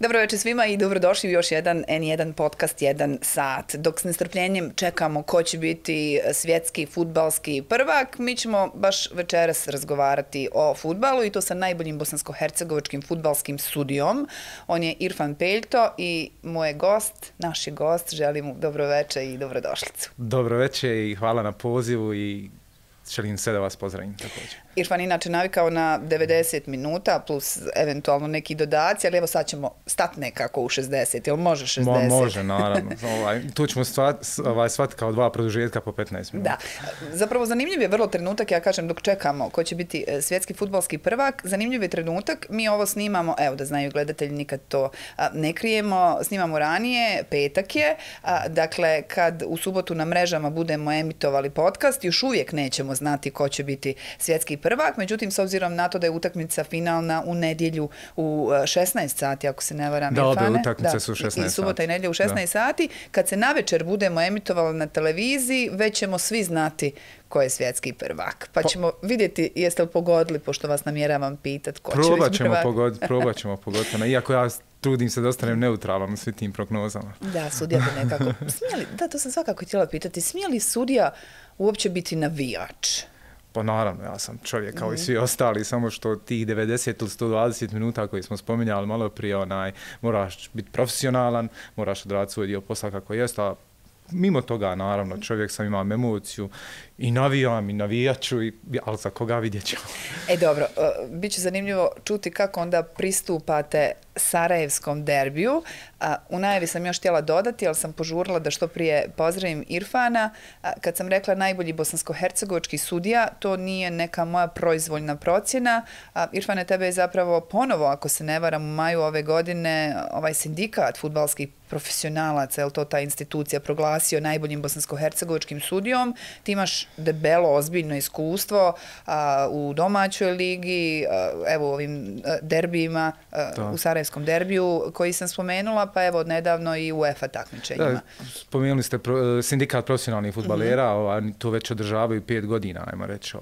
Dobro večer svima i dobrodošli u još jedan N1 podcast 1 sat. Dok s nestrpljenjem čekamo ko će biti svjetski fudbalski prvak, mi ćemo baš večeras razgovarati o fudbalu i to sa najboljim bosansko-hercegovačkim fudbalskim sudijom. On je Irfan Peljto i moj gost, naš je gost, želim mu dobro večer i dobrodošlicu. Dobro večer i hvala na pozivu i želim sve da vas pozdravim također. Irfan inače navikao na 90 minuta plus eventualno neki dodaci, ali evo sad ćemo stati nekako u 60, jel može 60? Može, naravno. Tu ćemo shvatiti kao dva produžetka po 15 minuta. Da. Zapravo zanimljiv je vrlo trenutak, ja kažem dok čekamo ko će biti svjetski fudbalski prvak, zanimljiv je trenutak, mi ovo snimamo, evo da znaju gledatelji, nikad to ne krijemo, snimamo ranije, petak je, dakle kad u subotu na mrežama budemo emitovali podcast, još uvijek nećemo znati ko će biti svjetski prvak, međutim s obzirom na to da je utakmica finalna u nedjelju u 16 sati, ako se ne varam, da, Irfane. Da, utakmice su u 16 sati. I subota i nedjelja u 16 sati. Kad se navečer budemo emitovali na televiziji, već ćemo svi znati ko je svjetski prvak. Pa ćemo vidjeti jeste li pogodili, pošto vas namjeravam pitat ko će biti prvak. Probat ćemo pogoditi. Iako ja trudim se da ostanem neutralan u svim tim prognozama. Da, sudija bi nekako... to sam svakako htjela pitati. Smije li sudija uopće biti navijač? Pa naravno, ja sam čovjek kao i svi ostali, samo što tih 90 ili 120 minuta koji smo spominjali malo prije, moraš biti profesionalan, moraš odraditi svoj dio posla kako jest, a mimo toga, naravno, čovjek sam imam emociju i navijam i navijaču, ali za koga vidjet ćemo. Dobro, bit će zanimljivo čuti kako onda pristupate sarajevskom derbiju. U najavi sam još htjela dodati, ali sam požurila da što prije pozdravim Irfana. Kad sam rekla najbolji bosansko-hercegovački sudija, to nije neka moja proizvoljna procjena. Irfane, tebe je zapravo ponovo, ako se ne varam, u maju ove godine ovaj sindikat fudbalskih profesionalaca, je li to ta institucija, proglasio najboljim bosansko-hercegovačkim sudijom. Ti imaš debelo, ozbiljno iskustvo u domaćoj ligi, evo u ovim derbijima, u sarajevskom derbiju koji sam spomenula, pa evo nedavno i u UEFA takmičenjima. Da, spomenuli ste sindikat profesionalnih fudbalera, to već održavaju 5 godina, ajmo reći,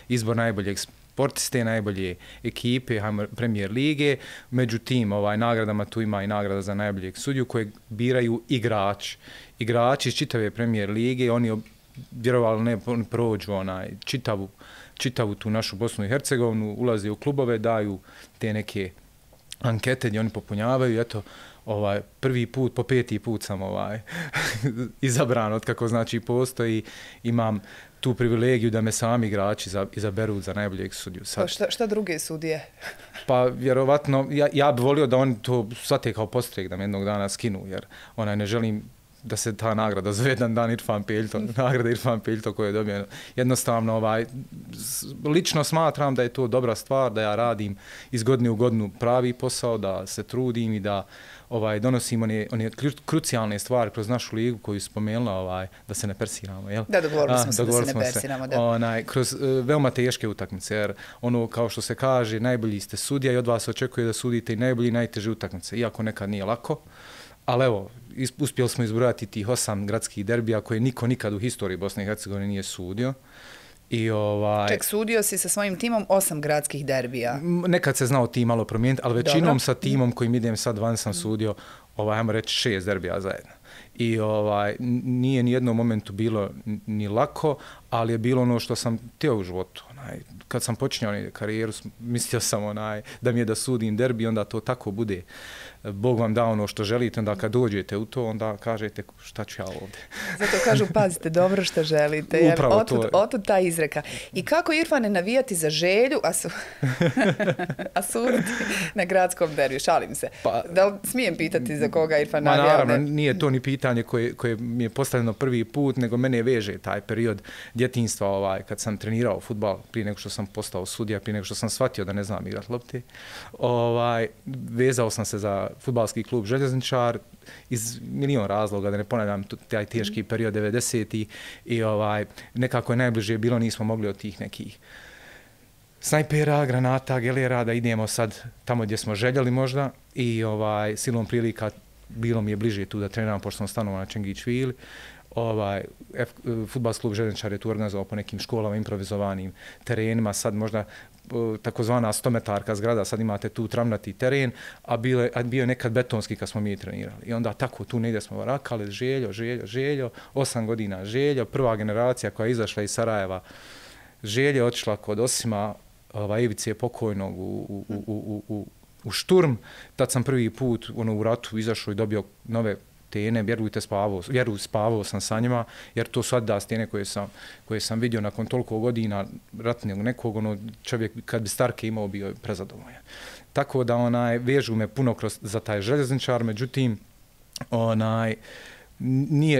izbor najboljeg sportiste, najbolje ekipe, Premier lige. Međutim, nagradama tu ima i nagrada za najboljeg sudiju koje biraju igrači iz čitave Premier lige. Oni vjerovali ne prođu čitavu tu našu Bosnu i Hercegovinu, ulaze u klubove, daju te neke ankete gdje oni popunjavaju. Eto, prvi put, po 5. put sam izabran od kako znači postoji. Imam tu privilegiju da me sami igrači izaberu za najboljeg sudiju. Pa šta druge sudije? Pa vjerovatno, ja bih volio da oni to shvate kao postrek, da me jednog dana skinu, jer ne želim da se ta nagrada zove jedan dan Irfan Peljto, nagrada Irfan Peljto koju je dobio. Jednostavno, lično smatram da je to dobra stvar, da ja radim iz godine u godinu pravi posao, da se trudim i da donosimo one krucijalne stvari kroz našu ligu koju spomenula, da se ne persiramo. Jel? Da, dogovorili smo se da se ne persiramo. Da. Kroz veoma teške utakmice, jer kao što se kaže, najbolji ste sudija i od vas očekuje da sudite i najbolji i najteže utakmice, iako nekad nije lako. Ali evo, uspjeli smo izbrojati tih 8 gradskih derbija koje niko nikad u historiji Bosne i Hercegovine nije sudio. Ček, sudio si sa svojim timom 8 gradskih derbija. Nekad se znao tim malo promijeniti, ali većinom sa timom kojim idem sad van sam sudio, ajmo reći 6 derbija zajedno. I nije ni jednom momentu bilo ni lako, ali je bilo ono što sam htio u životu. Kad sam počinjao karijeru, mislio sam da mi je da sudim derbi, onda to tako bude. Bog vam da ono što želite, onda kad dođete u to, onda kažete šta ću ja ovdje. Zato kažu, pazite dobro što želite. Upravo otud ta izreka. I kako, Irfane, navijati za Želju, a suditi na gradskom derbiju? Šalim se. Da li smijem pitati za koga Irfan navija? Naravno, nije to ni pitanje koje mi je postavljeno prvi put, nego mene veže taj period djetinjstva kad sam trenirao fudbal, prije nego što sam postao sudija, prije nego što sam shvatio da ne znam igrati lopte. Vezao sam se za fudbalski klub Željezničar iz milion razloga, da ne ponavljam taj teški period 90-ih i nekako je najbliže bilo, nismo mogli od tih nekih snajpera, granata, gelera da idemo sad tamo gdje smo željeli možda i silom prilika bilo mi je bliže tu da treniram pošto sam stanovao na Čengićvili. Fudbalski klub Željezničar je tu organizovao po nekim školama, improvizovanim terenima, sad možda takozvana 100-metarka zgrada, sad imate tu travnati teren, a bio je nekad betonski kad smo mi trenirali. I onda tako tu negdje smo varakali, Željo, 8 godina Željo, prva generacija koja je izašla iz Sarajeva, Želje otišla kod Osima, Ivice pokojnog u Šturm, tad sam prvi put u ratu izašao i dobio nove stene, spavao sam sa njima, jer to su da stene koje sam vidio nakon toliko godina ratnog nekog, čovjek kad bi Starke imao bio je prezadovoljan. Tako da vežu me puno za taj Željezničar, međutim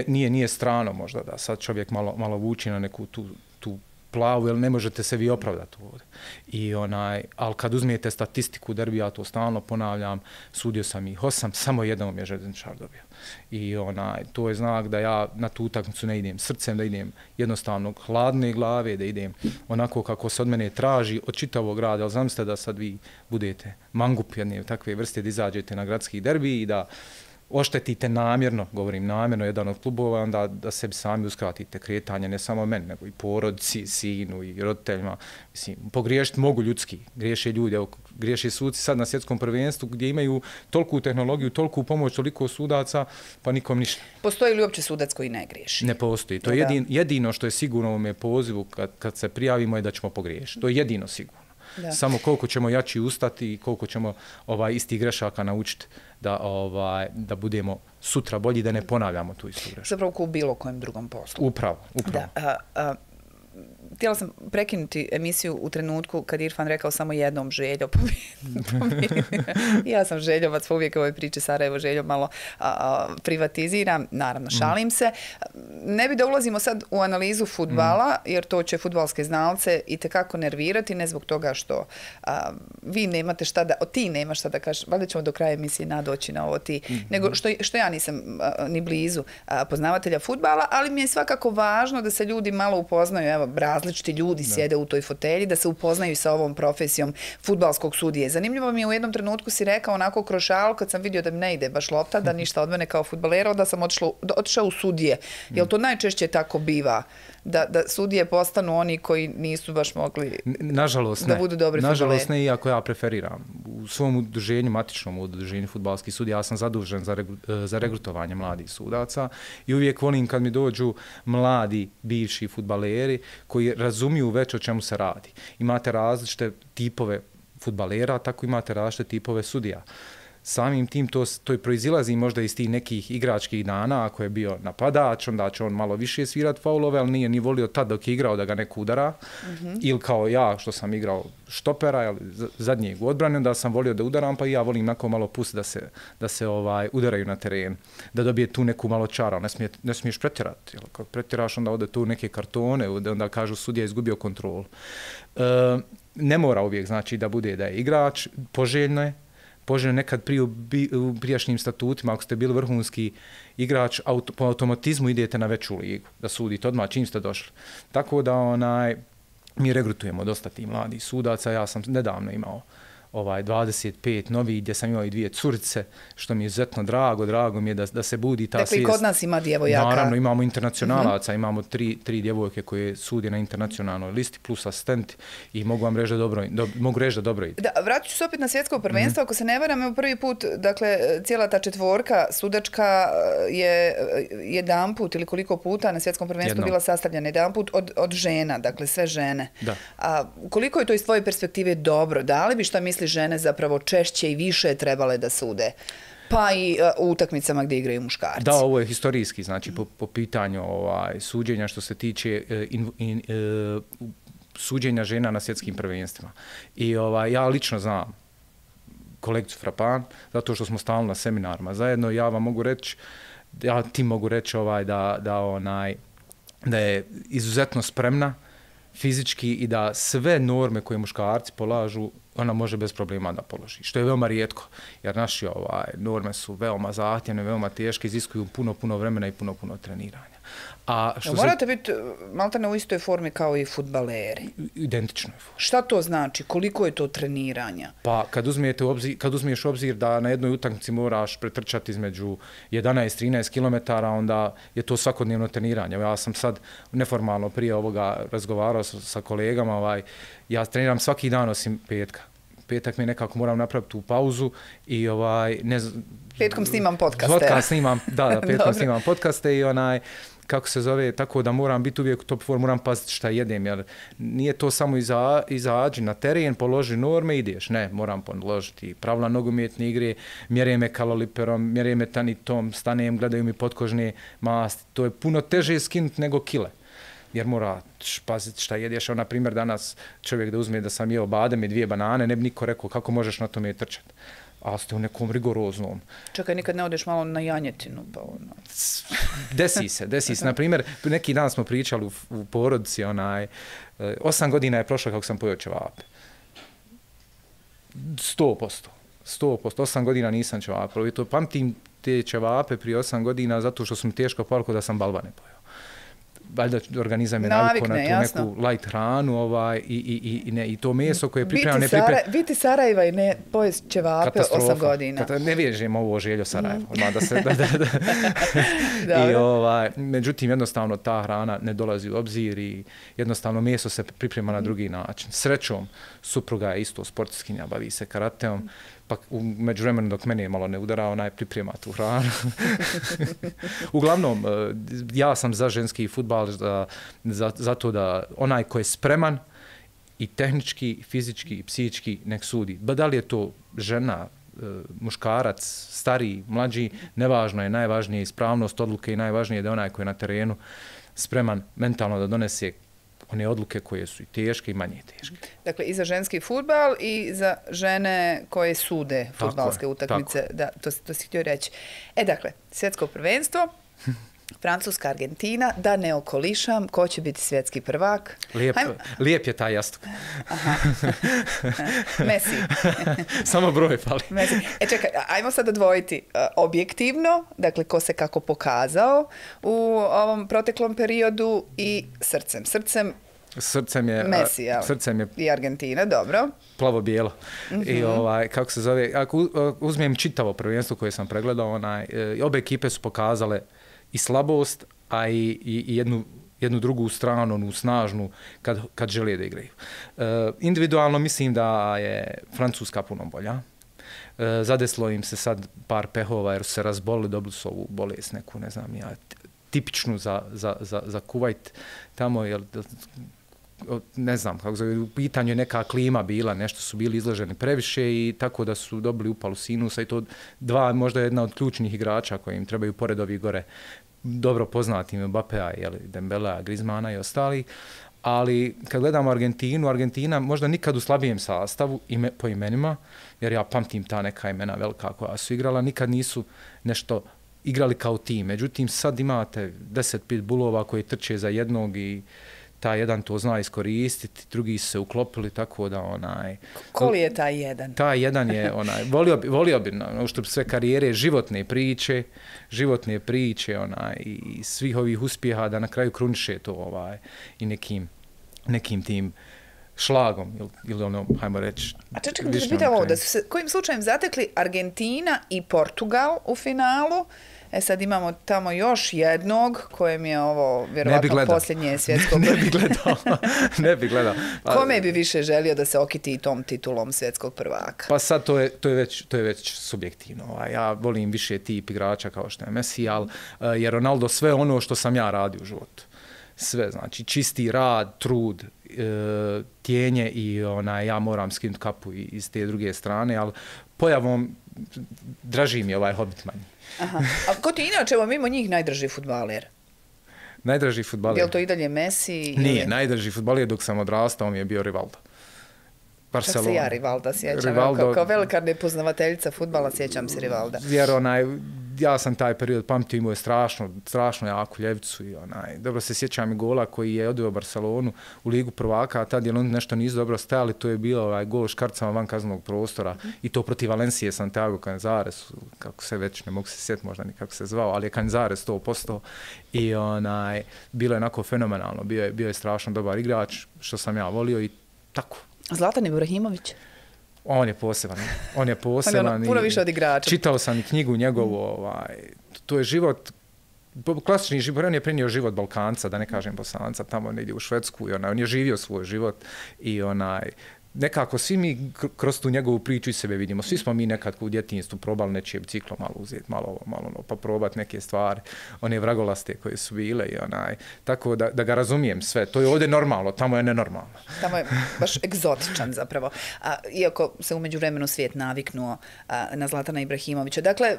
nije strano možda da sad čovjek malo vuči na neku tu plavu, jer ne možete se vi opravdati ovdje. Ali kad uzmijete statistiku derbija, ja to stalno ponavljam, sudio sam ih 8, samo jednom je Željezničar dobio. I to je znak da ja na tu utakmicu ne idem srcem, da idem jednostavno hladne glave, da idem onako kako se od mene traži od čitavog grada, ali zamislite da sad vi budete mangup jedne takve vrste, da izađete na gradski derbi i da oštetite namjerno, govorim namjerno, jedan od klubova, onda da sebi sami uskratite kretanje, ne samo meni, nego i porodici, sinu i roditeljima. Mislim, pogriješiti mogu ljudski, griješe ljudi, evo, griješe suci sad na svjetskom prvenstvu gdje imaju toliku tehnologiju, toliku pomoć, toliko sudaca, pa nikom ništa. Postoji li uopće sudac koji ne griješi? Ne postoji. To je jedino što je sigurno u ovome pozivu kad se prijavimo je da ćemo pogriješiti. To je jedino sigurno. Da. Samo koliko ćemo jači ustati i koliko ćemo istih grešaka naučiti da budemo sutra bolji, da ne ponavljamo tu istu grešku. Zapravo u bilo kojem drugom poslu. Upravo. Da, htjela sam prekinuti emisiju u trenutku kad Irfan rekao samo jednom Željo. Ja sam Željovac, pa uvijek ovoj priči Sarajevo Željo malo privatiziram. Naravno, šalim se. Ne bi da ulazimo sad u analizu fudbala, jer to će fudbalske znalce i tekako nervirati, ne zbog toga što vi nemate šta da, ti nemaš šta da kažeš, valjda ćemo do kraja emisije nadoći na ovo ti, nego što ja nisam ni blizu poznavatelja fudbala, ali mi je svakako važno da se ljudi malo upoznaju, evo, različiti ljudi sjede u toj fotelji, da se upoznaju sa ovom profesijom fudbalskog sudije. Zanimljivo mi je, u jednom trenutku si rekao onako kroz šalu, kad sam vidio da mi ne ide baš lopta, da ništa od mene kao fudbalera, onda sam otišao u sudije. Jel to najčešće tako biva? Da sudije postanu oni koji nisu baš mogli da budu dobri fudbaleri? Nažalost ne, iako ja preferiram. U svom udruženju, matičnom udruženju fudbalskih sudija, ja sam zadužen za regrutovanje mladih sudaca i uvijek volim kad mi dođu mladi bivši fudbaleri koji razumiju već o čemu se radi. Imate različite tipove fudbalera, tako imate različite tipove sudija. Samim tim to proizilazi možda iz tih nekih igračkih dana, ako je bio napadač, onda će on malo više svirati faulove, ali nije ni volio tad dok je igrao da ga neko udara, ili kao ja što sam igrao štopera, ili zadnjeg u odbrani, onda sam volio da udaram, pa i ja volim onako malo pustiti da se udaraju na teren, da dobije tu neku malo čara, ne smiješ pretjerati, kako pretjeraš onda ode tu neke kartone, onda kažu sudija izgubio kontrolu. Ne mora uvijek znači da bude da je igrač, poželjno je nekad u prijašnjim statutima, ako ste bili vrhunski igrač, po automatizmu idete na veću ligu, da sudite odmah čim ste došli. Tako da mi regrutujemo dosta tih mladih sudaca. Ja sam nedavno imao 25 novi, gdje sam imao i 2 curice, što mi je izuzetno drago mi je da se budi ta svijest. Dakle, i kod nas ima djevojaka. Naravno, imamo internacionalaca, imamo tri djevojke koje sude na internacionalnoj listi, plus asistenti i mogu vam reći da dobro ide. Da, vratit ću se opet na svjetsko prvenstvo, ako se ne varam, evo prvi put, dakle, cijela ta četvorka sudačka je jedanput ili koliko puta na svjetskom prvenstvu bila sastavljena jedanput od žena, dakle, sve žene. Da. A koliko je to iz tvoje perspektive dobro? Da li bi, šta misli, žene zapravo češće i više trebale da sude, pa i u utakmicama gdje igraju muškarci? Da, ovo je historijski, znači po pitanju suđenja što se tiče suđenja žena na svjetskim prvenstvima. I ja lično znam kolegicu Frapan, zato što smo stalno na seminarima zajedno, ja vam mogu reći, ti mogu reći da je izuzetno spremna fizički i da sve norme koje muškarci polažu ona može bez problema da položi, što je veoma rijetko, jer naše norme su veoma zahtjevne, veoma teške, iziskuju puno vremena i puno treniranja. A što morate biti maltene u istoj formi kao i fudbaleri. Identičnoj formi. Šta to znači? Koliko je to treniranja? Pa kad uzmiješ obzir da na jednoj utakmici moraš pretrčati između 11-13 km, onda je to svakodnevno treniranje. Ja sam sad neformalno prije ovoga razgovarao sa kolegama, ja treniram svaki dan osim petka. Petak mi nekako moram napraviti tu pauzu i petkom snimam podcaste. Petkom snimam podcaste i kako se zove, tako da moram biti uvijek u top form, moram paziti šta jedem, jer nije to samo izađi na teren, položi norme, ideš. Ne, moram položiti pravila nogometne igre, mjere me kaloriferom, mjere me tanitom, stanem, gledaju mi potkožne masti. To je puno teže skinuti nego kile. Jer moraš paziti šta jedeš. Na primjer, danas čovjek da uzme da sam jeo badem i 2 banane, ne bi niko rekao kako možeš na tome trčati. A ste u nekom rigoroznom. Čekaj, nikad ne odeš malo na janjetinu? Pa ono. Desi se. Na primjer, neki dan smo pričali u porodici, 8 godina je prošlo kako sam pojeo ćevape. 100%. 8 godina nisam ćevape. I to pamtim te ćevape prije 8 godina zato što su mi teško palko da sam balvane pojeo. Valjda organizam je navikao na tu neku light hranu i to meso koje je pripremljeno... Biti Sarajeva i ne pojesti ćevape 8 godina. Ne vježem ovo željo Sarajeva. Međutim, jednostavno ta hrana ne dolazi u obzir i jednostavno meso se priprema na drugi način. Srećom, supruga je isto sportskinja, bavi se karateom, pa u međuvremenu dok mene malo ne udara, priprema tu hranu. Uglavnom, ja sam za ženski fudbal zato da onaj ko je spreman i tehnički, fizički i psihički nek sudi. Da li je to žena, muškarac, stariji, mlađi, nevažno je, najvažnije je ispravnost odluke i najvažnije je da onaj koji je na terenu spreman mentalno da donese one odluke koje su i teške i manje teške. Dakle, i za ženski fudbal i za žene koje sude fudbalske utakmice. Da, to si htio reći. Dakle, svjetsko prvenstvo, Francuska, Argentina, da ne okolišam, ko će biti svjetski prvak? Lijep je taj jastuk. Messi. Samo broj fali. Messi. Čekaj, ajmo sad odvojiti objektivno, dakle, ko se kako pokazao u ovom proteklom periodu i srcem. Srcem je Messi, i Argentina, dobro. Plavo-bijelo. I kako se zove, ako uzmem čitavo prvenstvo koje sam pregledao, obe ekipe su pokazale i slabost, a i jednu drugu stranu, onu snažnu, kad žele da igraju. Individualno mislim da je Francuska puno bolja. Zadeslo im se sad par pehova jer su se razbolili, dobili su ovu bolest neku, ne znam ja, tipičnu za Kuvajt tamo, ne znam kako zove, u pitanju je neka klima bila, nešto su bili izloženi previše i tako da su dobili upalu sinusa i to možda jedna od ključnih igrača koji im trebaju pored ovih gore dobro poznati Mbappea, Dembelea, Griezmana i ostali, ali kad gledamo Argentina možda nikad u slabijem sastavu po imenima, jer ja pamtim ta neka imena velika koja su igrala, nikad nisu nešto igrali kao tim. Međutim, sad imate 10 pitbullova koji trče za jednog i taj jedan to zna iskoristiti, drugi su se uklopili, tako da Ko li je taj jedan? Taj jedan je volio bi što sve karijere, životne priče i svih ovih uspjeha da na kraju kruniše to i nekim tim šlagom ili hajmo reći. A čekaj, da se pitam ovo, da su se kojim slučajem zatekli Argentina i Portugal u finalu. Sad imamo tamo još jednog kojem je ovo vjerovatno posljednje svjetsko prvenstvo. Ne bi gledao. Kome bi više želio da se okiti i tom titulom svjetskog prvaka? Pa sad to je već subjektivno. Ja volim više tip igrača kao što je Messi, jer Ronaldo sve ono što sam ja radio u životu. Sve, znači čisti rad, trud, tjenje i ja moram skinuti kapu iz te druge strane, ali pojavom draži mi ovaj Hobbit manji. Aha. A ko ti inače, mimo njih, najdrži fudbaler? Najdrži fudbaler? Je li to i dalje Messi? Nije, najdrži fudbaler dok sam odrastao mi je bio Rivaldo. Čak se ja Rivalda sjećam. Kao velika nepoznavateljica fudbala sjećam se Rivalda. Jer ja sam taj period pamtio, imao je strašno jaku ljevicu i dobro se sjećam i gola koji je odveo Barcelonu u Ligu prvaka, a tad je oni nešto nisu dobro stajali, to je bilo gol škarcama van kaznenog prostora i to protiv Valencije Santiago Canizares, kako se već ne mogu se sjetiti možda ni kako se zvao, ali je Canizares 100% i bilo je onako fenomenalno, bio je strašno dobar igrač, što sam ja volio i tako. Zlatan Ibrahimović? On je poseban. On je puno više od igrača. Čitao sam i knjigu njegovu. To je život, klasični život. On je prenio život Balkanca, da ne kažem Bosanca, tamo negdje u Švedsku. I on je živio svoj život i nekako svi mi kroz tu njegovu priču i sebe vidimo. Svi smo mi nekad u djetinjstvu probali nečije biciklo malo uzeti, malo pa probati neke stvari, one vragolaste koje su bile i tako da ga razumijem sve. To je ovdje normalno, tamo je nenormalno. Tamo je baš egzotičan zapravo. Iako se umeđu vremenu svijet naviknuo na Zlatana Ibrahimovića. Dakle,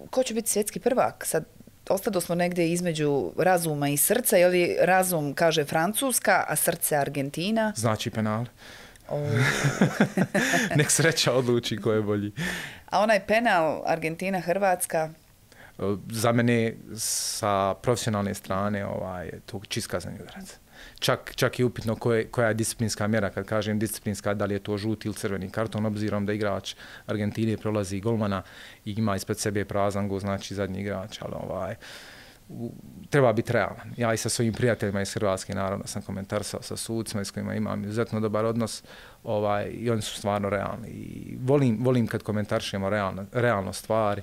ko će biti svjetski prvak? Sad ostado smo negdje između razuma i srca, je li razum kaže Francuska, a srce Argentina? Znači penale. Nek sreća odluči ko je bolji. A onaj penal Argentina-Hrvatska? Za mene sa profesionalne strane to čist kazneni udarac. Čak i upitno koja je disciplinska mjera, kad kažem disciplinska, da li je to žuti ili crveni karton, obzirom da igrač Argentine prolazi golmana i ima ispred sebe prazan gol, znači zadnji igrač, ali treba biti realan. Ja i sa svojim prijateljima iz Hrvatske, naravno, sam komentarsao sa sucima s kojima imam izuzetno dobar odnos i oni su stvarno realni. I volim kad komentaršemo realno stvari.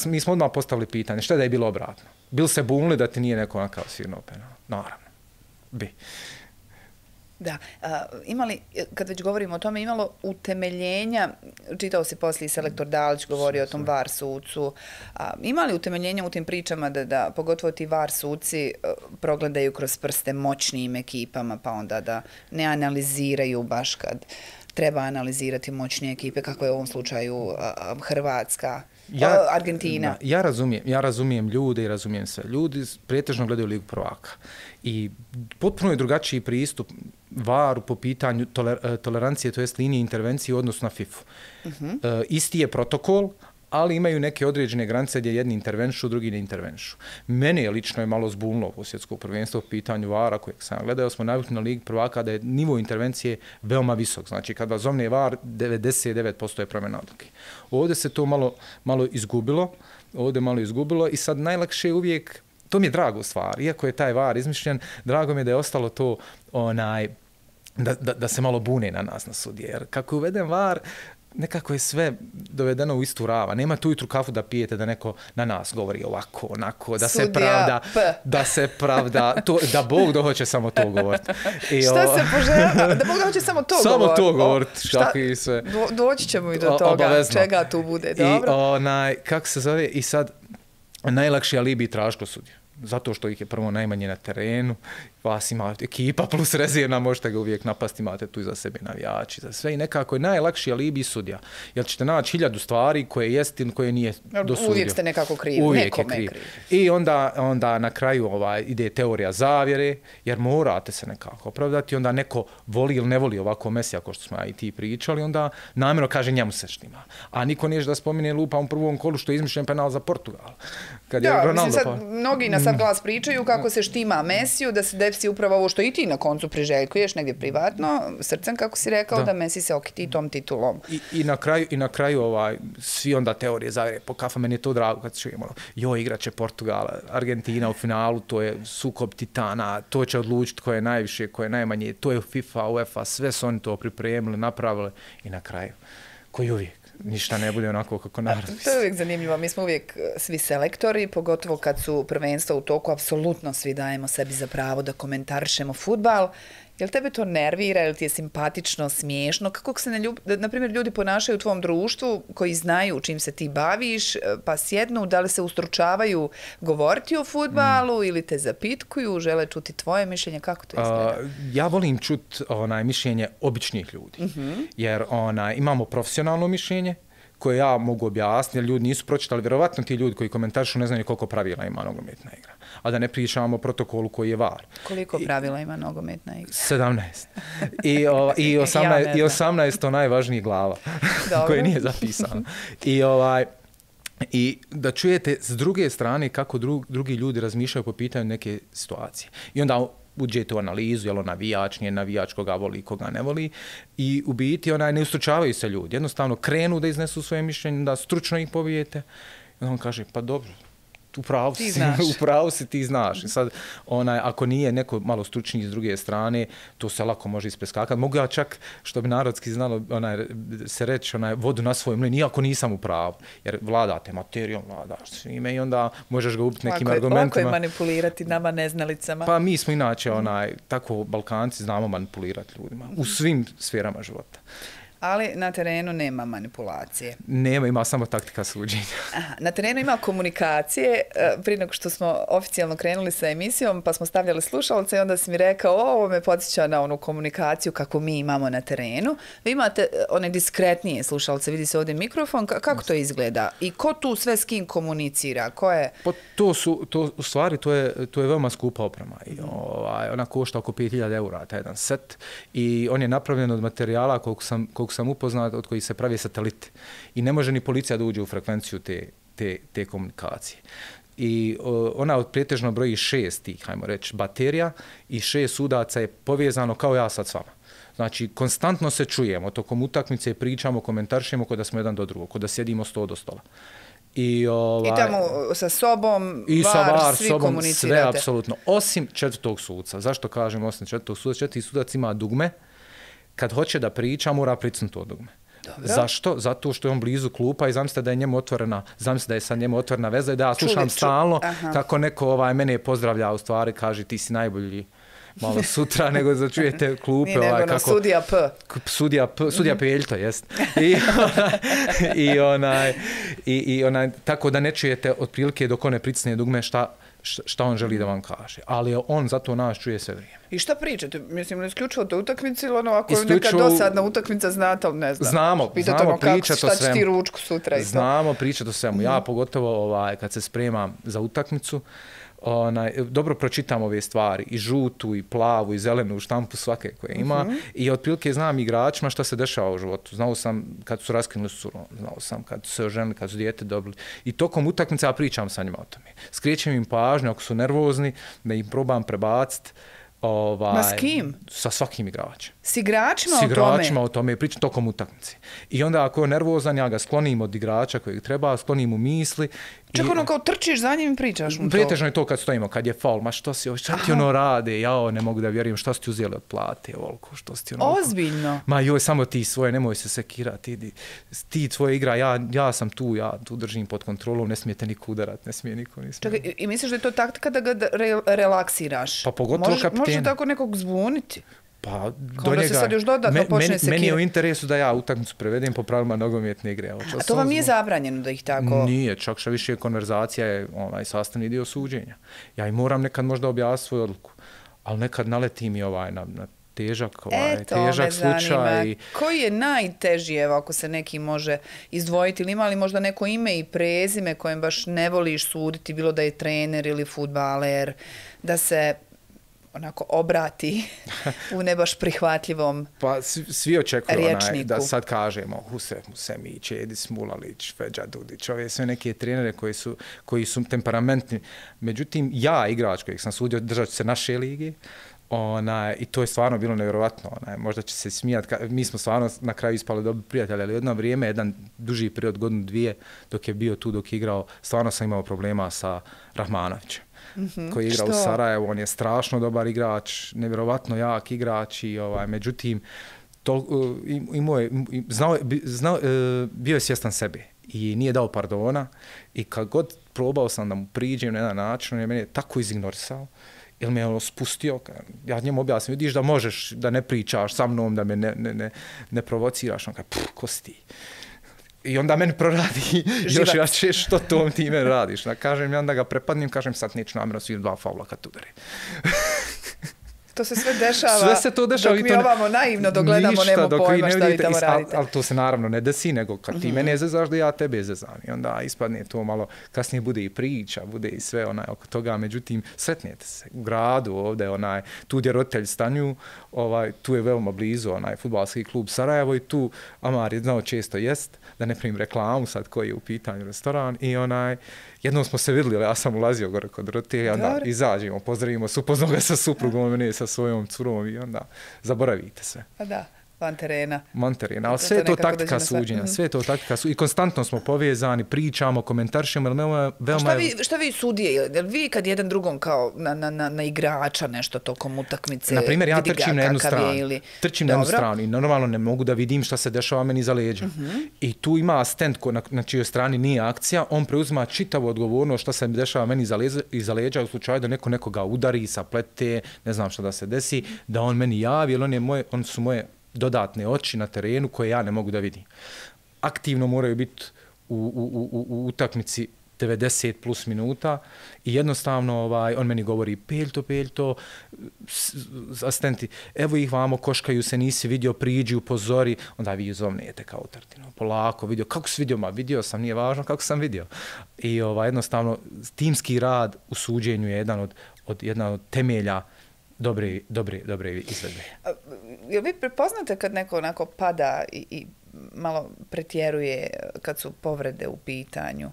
Mi smo odmah postavili pitanje, šta da je bilo obratno? Bil se bunili da ti nije neko onakav svirnuo penal? Naravno. Bi. Da. Imali, kad već govorimo o tome, imalo utemeljenja, čitao si poslije selektor Dalić, govorio o tom VAR sucu, imali utemeljenja u tim pričama da pogotovo ti VAR suci progledaju kroz prste moćnijim ekipama, pa onda da ne analiziraju baš kad treba analizirati moćnije ekipe, kako je u ovom slučaju Hrvatska, Argentina. Ja razumijem ljude i razumijem sve. Ljudi pretežno gledaju Ligu prvaka. I potpuno je drugačiji pristup VAR-u po pitanju tolerancije, to jest linije intervencije u odnosu na FIFA. Isti je protokol, ali imaju neke određene granice gdje jedni intervenšu, drugi ne intervenšu. Mene je lično malo zbunilo u svjetsko prvenstvo u pitanju VAR-a kojeg sam gledao. Smo navikli na Ligi prvaka da je nivo intervencije veoma visok. Znači, kad vas zovne VAR, 99% je promjena odluke. Ovdje se to malo izgubilo i sad najlakše je uvijek, to mi je drago stvar, iako je taj VAR izmišljen, drago mi je da je ostalo to da se malo bune na nas na sudije. Jer kako je uveden VAR, nekako je sve dovedeno u istu rava. Nema tu ujutru kafu da pijete da neko na nas govori ovako, onako, da se pravda, da Bog dohoće samo to govoriti. Šta se poželjava? Da Bog dohoće samo to govoriti? Samo to govoriti. Doći ćemo i do toga, obavezno. Čega tu bude. Dobro. I kako se zove, i sad najlakši alibi traži kod sudija. Zato što ih je prvo najmanje na terenu, vas ima ekipa plus rezervna, možete ga uvijek napasti, imate tu iza sebe navijači, za sve i nekako je najlakši alibi sudija. Jer ćete naći 1000 stvari koje je istin, koje nije dosudio. Uvijek ste nekako krivi, nekome je kriv. I onda na kraju ide teorija zavjere, jer morate se nekako opravdati, onda neko voli ili ne voli ovako Mesija, kao što smo ja i ti pričali, onda namjerno kaže njemu se štima. A niko nije da spomine lupa u prvom kolu što je izmišljen penal za Portugal. Mnogi na sad glas pričaju kako se štima Mesiju, da se desi upravo ovo što i ti na koncu priželjkuješ negdje privatno, srcem kako si rekao, da Messi se okiti tom titulom. I na kraju svi onda teorije zavjere po kafa, meni je to drago kad čujemo, igraće Portugal, Argentina u finalu, to je sukob titana, to će odlučiti ko je najviše, ko je najmanje, to je FIFA, UEFA, sve su oni to pripremili, napravili i na kraju, koji uvijek. Ništa ne bude onako kako narod. To je uvijek zanimljivo. Mi smo uvijek svi selektori, pogotovo kad su prvenstva u toku, apsolutno svi dajemo sebi za pravo da komentarišemo fudbal. Jel tebe to nervira, jel ti je simpatično, smiješno? Kako se, na primjer, ljudi ponašaju u tvom društvu koji znaju čim se ti baviš, pa sjednu, da li se ustručavaju govoriti o fudbalu ili te zapitkuju, žele čuti tvoje mišljenje? Kako to izgleda? Ja volim čuti mišljenje običnih ljudi, jer imamo profesionalno mišljenje, koje ja mogu objasniti, jer ljudi nisu pročitali, vjerovatno ti ljudi koji komentarišu ne znaju koliko pravila ima nogometna igra. A da ne pričamo o protokolu koji je VAR. Koliko pravila ima nogometna igra? 17. I 18 to najvažniji glava koje nije zapisano. I da čujete s druge strane kako drugi ljudi razmišljaju po pitanju neke situacije. I onda uđete u analizu, jel on navijač, nije navijač, koga voli, koga ne voli. I u biti ne ustručavaju se ljudi. Jednostavno krenu da iznesu svoje mišljenje, da stručno ih pobijete. I on kaže, pa dobro, u pravu si, ti znaš. I sad, ako nije neko malo stručniji s druge strane, to se lako može ispreskakati. Mogu ja čak, što bi narodski znalo, se reći, vodu na svoj mlin, iako nisam u pravu. Jer vladate materijom, vladaš svime i onda možeš ga ubiti nekim argumentima. Lako je manipulirati nama neznalicama. Pa mi smo inače, tako Balkanci znamo manipulirati ljudima. U svim sferama života. Ali na terenu nema manipulacije. Nema, ima samo taktika suđenja. Na terenu ima komunikacije. Prije nego što smo oficijalno krenuli sa emisijom, pa smo stavljali slušalce i onda si mi rekao, ovo me podsjeća na onu komunikaciju kako mi imamo na terenu. Vi imate one diskretnije slušalce, vidi se ovdje mikrofon. Kako to izgleda? I ko tu sve s kim komunicira? Ko je? Pa u stvari, to je veoma skupa oprema. I, ona košta oko 5000 eura, taj jedan set. I on je napravljen od materijala koliko sam upoznat, od kojih se pravi satelite. I ne može ni policija da uđe u frekvenciju te komunikacije. I ona pretežno broji 6 tih, hajmo reći, baterija i 6 sudaca je povezano kao ja sad s vama. Znači, konstantno se čujemo, tokom utakmice pričamo, komentarišemo kod da smo jedan do drugog, kod da sjedimo sto do stola. I tamo sa sobom, i sa VAR, svi sobom, komunicirate? Sve, apsolutno. Osim četvrtog suca. Zašto kažem osim četvrtog suca? Četvrti sudac ima dugme. Kad hoće da priča, mora pricnuti to dugme. Dobro. Zašto? Zato što je on blizu klupa i zamislite da je njemu otvorena, zamislite da je sa njemu otvorena veza i da ja slušam stalno kako neko mene pozdravlja, u stvari kaže ti si najbolji malo sutra, nego da čujete klupe. Nije nego kako, sudija P. Sudija Peljto, jest. I tako da ne čujete otprilike dok on ne pricne dugme šta on želi da vam kaže. Ali on zato nas čuje sve vrijeme. I šta pričate? Mislim, isključivo te utakmice ili ako je neka dosadna utakmica, znate, ali ne znam. Znamo pričati o svemu. Šta će ti ručku sutra i to? Znamo pričati o svemu. Ja pogotovo kad se spremam za utakmicu, dobro pročitam ove stvari, i žutu, i plavu, i zelenu štampu svake koje ima i otprilike znam igračima šta se dešava u životu. Znao sam kad su raskinuli suru, znao sam kad su se oženili, kad su dijete dobili. I tokom utakmice ja pričam sa njima o tome. Skrećem im pažnju ako su nervozni, da im probam prebaciti. Ma s kim? Sa svakim igračem. S igračima o tome? S igračima o tome, pričam tokom utakmice. I onda ako je nervozan, ja ga sklonim od igrača kojeg treba, sklonim u misli. Čak kao trčiš za njim i pričaš mu to? Pretežno je to kad stojimo, kad je faul, ma što ti ono rade, ne mogu da vjerujem, što si ti uzeli od plate, ovoliko, što si ti ono... Ozbiljno? Ma joj, samo ti svoje, nemoj se sekirati, ti tvoje igra, ja sam tu, ja tu držim pod kontrolom, ne smijete niko udarat, ne smije niko. Čekaj, i misliš da je to taktika da ga relaksiraš? Pa pogotovo kapitena. Može tako nekog zbuniti? Pa do njega, se sad još dodatno počne sekirati. Meni je u interesu da ja utakmicu prevedem po pravilima nogometne igre. A to vam nije zabranjeno da ih tako... Nije, čak što više konverzacija je sastavni dio suđenja. Ja i moram nekad možda objasniti svoju odluku, ali nekad naleti mi na težak slučaj. Koji je najteži, evo, ako se neki može izdvojiti, ili ima li možda neko ime i prezime kojem baš ne voliš suditi, bilo da je trener ili fudbaler, da se onako obrati u ne baš prihvatljivom pa svi očekuju rječniku. Da sad kažemo Husemić, Edis Mulalić, Feđa Dudić, ove sve neke trenere koji su temperamentni. Međutim, ja, igrač kojeg sam sudio, držat ću se naše lige, i to je stvarno bilo nevjerovatno. Možda će se smijati. Mi smo stvarno na kraju ispali dobri prijatelji, ali jedno vrijeme, jedan duži period, godinu, dvije, dok je bio tu, dok je igrao, stvarno sam imao problema sa Rahmanovićem. Koji je igrao u Sarajevu, on je strašno dobar igrač, nevjerovatno jak igrač i međutim bio je svjestan sebe i nije dao pardona i kad god probao sam da mu priđem na jedan način, on je mene tako izignorisao ili me je spustio, ja njemu objasnim, vidiš da možeš da ne pričaš sa mnom, da me ne provociraš, on kaže, ko si ti? I onda meni proradi još jače što tom ti meni radiš. Kažem, ja onda ga prepadnim, kažem sad neću namjerno svi 2 faula kad udari. To se sve dešava, sve se to dešava dok mi ovamo naivno dogledamo, nema pojma šta vi tamo radite. Ali to se naravno ne desi, nego kad ti mene zezaš da ja tebe zezam. I onda ispadne to malo, kasnije bude i priča, bude i sve oko toga. Međutim, sretnete se u gradu ovde, tu gdje roditelji stanuju, tu je veoma blizu fudbalski klub Sarajevo i tu Amar je znao često jest, da ne primim reklamu sad koji je u pitanju restoran i jednom smo se vidjeli, ja sam ulazio gore kod roditelja, onda izađemo, pozdravimo se, upoznao ga sa suprugom, mene sa svojom curom i onda zaboravite sve. Pa da. Van terena, ali sve je to taktika suđenja, sve je to taktika suđenja i konstantno smo povezani, pričamo, komentarišemo, ali veoma... Šta vi sudije, vi kad jedan drugom kao na igrača nešto tokom utakmice, na primjer, ja trčim na jednu stranu i normalno ne mogu da vidim šta se dešava meni iza leđa. I tu ima asistent na čijoj strani nije akcija, on preuzima čitavu odgovornost šta se dešava meni iza leđa u slučaju da neko nekoga udari, saplete, ne znam šta da se desi, da on meni javi, jer on su moje dodatne oči na terenu koje ja ne mogu da vidim. Aktivno moraju biti u utakmici 90 plus minuta i jednostavno on meni govori peljto, asistenti, evo ih vamo, koškaju se, nisi vidio, priđi, upozori, onda vi zovnete kao Tartino, polako, vidio, kako si vidio, vidio sam, nije važno kako sam vidio. I jednostavno, timski rad u suđenju je jedan od temelja dobre izvedbe. Jel vi prepoznate kad neko onako pada i malo pretjeruje kad su povrede u pitanju?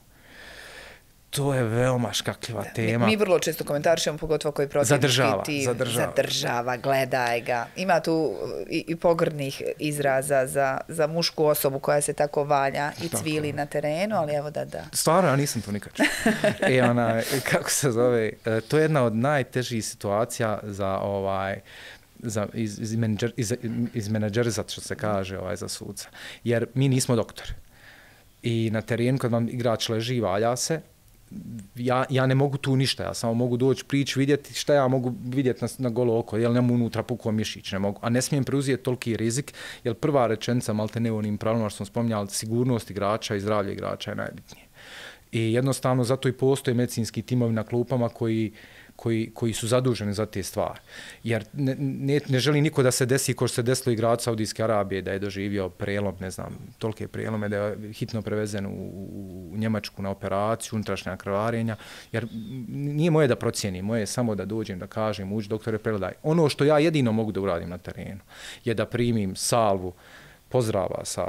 To je veoma škakljiva tema. Mi vrlo često komentarišemo, pogotovo koji protivnički tim. Zadržava, gledaj ga. Ima tu i pogrdnih izraza za mušku osobu koja se tako valja i cvili na terenu, ali evo da. Stvarno, ja nisam to nikad čuo. Kako se zove, to je jedna od najtežih situacija iz menadžerizat, što se kaže, za suca. Jer mi nismo doktori. I na terenu, kad vam igrač leži, valja se, ja ne mogu tu ništa, ja samo mogu doći prići, vidjeti šta ja mogu vidjeti na golo oko, jer nemam unutra pukao mišić, ne mogu, a ne smijem preuzeti toliki rizik, jer prva rečenica, malte ne onim pravilno što sam spominjali, sigurnost igrača i zdravlje igrača je najbitnije. I jednostavno zato i postoje medicinski timovi na klupama koji su zaduženi za te stvari. Jer ne želi niko da se desi ko što se desilo igraču Saudijske Arabije, da je doživio prelom, ne znam, tolike prelome, da je hitno prevezen u Njemačku na operaciju, unutrašnja krvarenja, jer nije moje da procijenim, moje je samo da dođem, da kažem, uđi doktore, pregledaj. Ono što ja jedino mogu da uradim na terenu je da primim salvu pozdrava sa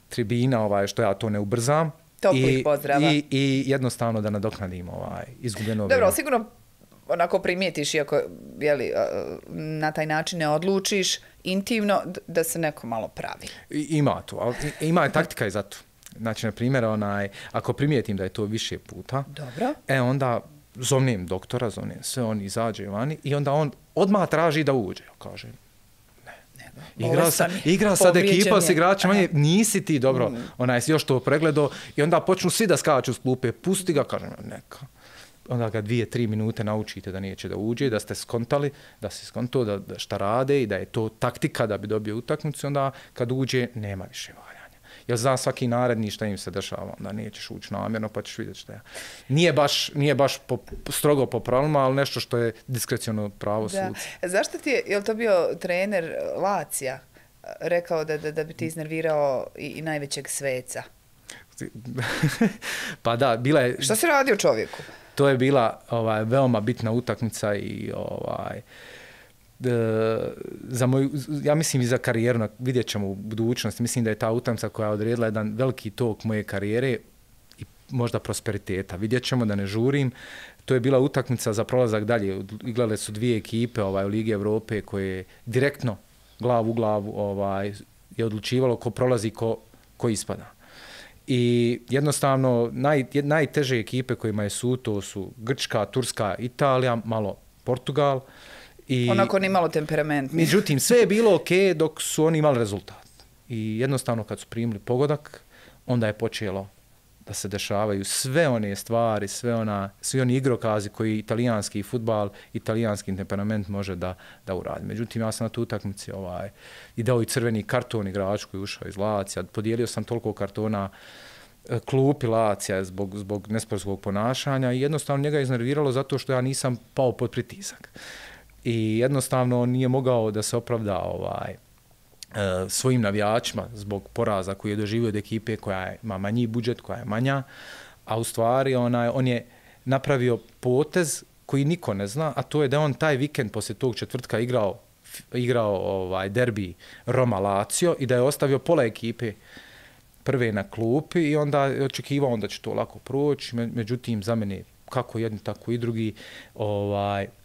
tribina, što ja to ne ubrzam, toplih pozdrava. I jednostavno da nadoknadim izgubljeno vrijeme. Dobro, sigurno onako primijetiš, iako na taj način ne odlučiš intimno, da se neko malo pravi. Ima to, ali ima je taktika i za to. Znači, na primjer, ako primijetim da je to više puta, dobro, onda zovnem doktora, zovnem sve, on izađe vani i onda on odmah traži da uđe. Kaže, igra sad ekipa s igračima, nisi ti dobro, si još to pregledao i onda počnu svi da skaču s klupe, pusti ga, kažem, neka. Onda ga 2-3 minute naučite da neće da uđe, da ste skontali, da si skontao da šta rade i da je to taktika da bi dobio utakmicu, onda kad uđe nema više valjanja. Jer zna svaki naredni šta im se dešava, onda nećeš ući namjerno pa ćeš vidjeti šta je. Nije baš strogo po pravilima, ali nešto što je diskreciono pravo suca. Zašto ti je li to bio trener Lazija rekao da bi ti iznervirao i najvećeg sveca? Pa da, bila je... Šta si radio čovjeku? To je bila veoma bitna utakmica i za moju, ja mislim i za karijeru, vidjet ćemo u budućnosti, mislim da je ta utakmica koja je odredila jedan veliki tok moje karijere i možda prosperiteta. Vidjet ćemo, da ne žurim. To je bila utakmica za prolazak dalje. Igrale su dvije ekipe u Ligi Evrope koje direktno glavu u glavu je odlučivalo ko prolazi, ko ispada. I jednostavno najteže ekipe kojima je sud, to su Grčka, Turska, Italija, malo Portugal. Onako ni malo temperamentni. Međutim, sve je bilo ok dok su oni imali rezultat. I jednostavno kad su primili pogodak, onda je počelo da se dešavaju sve one stvari, svi oni igrokazi koji italijanski fudbal, italijanski temperament može da uradi. Međutim, ja sam na tu utakmici i dao i crveni karton igraču koji je ušao iz Lazija. Podijelio sam toliko kartona klupi Lazija zbog nesportskog ponašanja i jednostavno njega je iznerviralo zato što ja nisam pao pod pritisak. i jednostavno nije mogao da se opravda svojim navijačima zbog poraza koji je doživio od ekipe koja ima manji budžet, koja je manja, a u stvari on je napravio potez koji niko ne zna, a to je da on taj vikend poslije tog četvrtka igrao derbi Roma-Lazio i da je ostavio pola ekipe prve na klupi i onda je očekivao da će to lako proći, međutim za mene kako jedni tako i drugi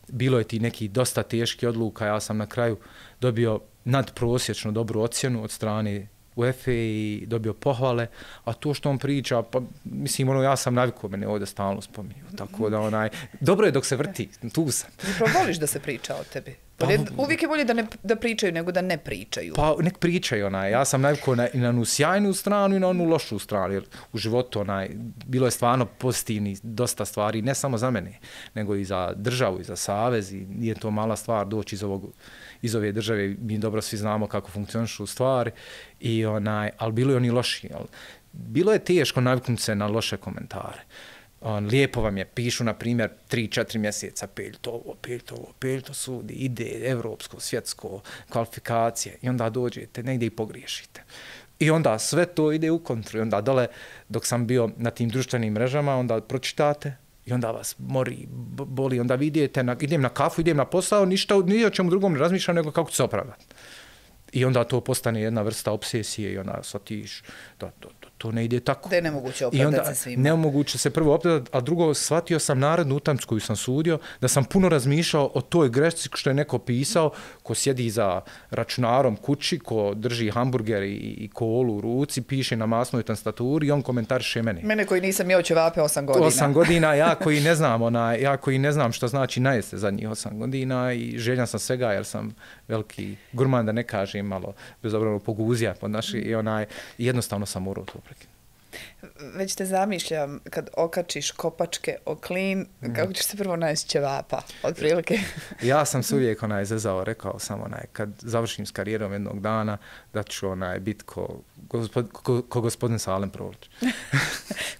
bilo je ti neki dosta teški odluka, ja sam na kraju dobio nadprosječno dobru ocjenu od strane UEFA i dobio pohvale, a to što on priča, pa mislim, ja sam navikao, mene ovdje stalno spominju, tako da dobro je dok se vrti, tu sam. Zapravo voliš da se priča o tebi? Uvijek je bolje da pričaju nego da ne pričaju. Pa nek pričaju, ja sam navikao i na onu sjajnu stranu i na onu lošu stranu, jer u životu bilo je stvarno pozitivni dosta stvari, ne samo za mene, nego i za državu i za savez i nije to mala stvar doći iz ove države, mi dobro svi znamo kako funkcionišu stvari, ali bilo je oni loši. Bilo je teško naviknuti se na loše komentare. Lijepo vam je, pišu na primjer 3-4 mjeseca, Peljtovo sudi, ide evropsko, svjetsko, kvalifikacije i onda dođete negdje i pogriješite. I onda sve to ide u kontru i onda dole dok sam bio na tim društvenim mrežama, onda pročitate i onda vas mori, boli, onda vi idete, idem na kafu, idem na posao, ni o čemu drugom ne razmišljam nego kako ću se opravdati. I onda to postane jedna vrsta obsesije i onda shvatiš da to ne ide tako. Da je nemoguće opravdati se svima. Nemoguće se prvo opravdati, a drugo shvatio sam narednu utakmicu koju sam sudio, da sam puno razmišljao o toj grešci što je neko pisao, ko sjedi za računarom kući, ko drži hamburger i kolu u ruci, piše na masnoj tastaturi i on komentariše mene. Mene koji nisam jeo ćevape 8 godina. 8 godina, ja koji ne znam što znači najeste zadnjih 8 godina i željan sam svega jer sam veliki gurman, da ne kažem malo bezobrano poguzija pod naši i jednostavno sam morao to prekinuti. Već te zamišljam kad okačiš kopačke o klin, kako ćeš se prvo najesti ćevapa, otprilike? Ja sam se uvijek zezao, rekao sam kad završim s karijerom jednog dana, da ću biti ko gospodin Salem Prolić.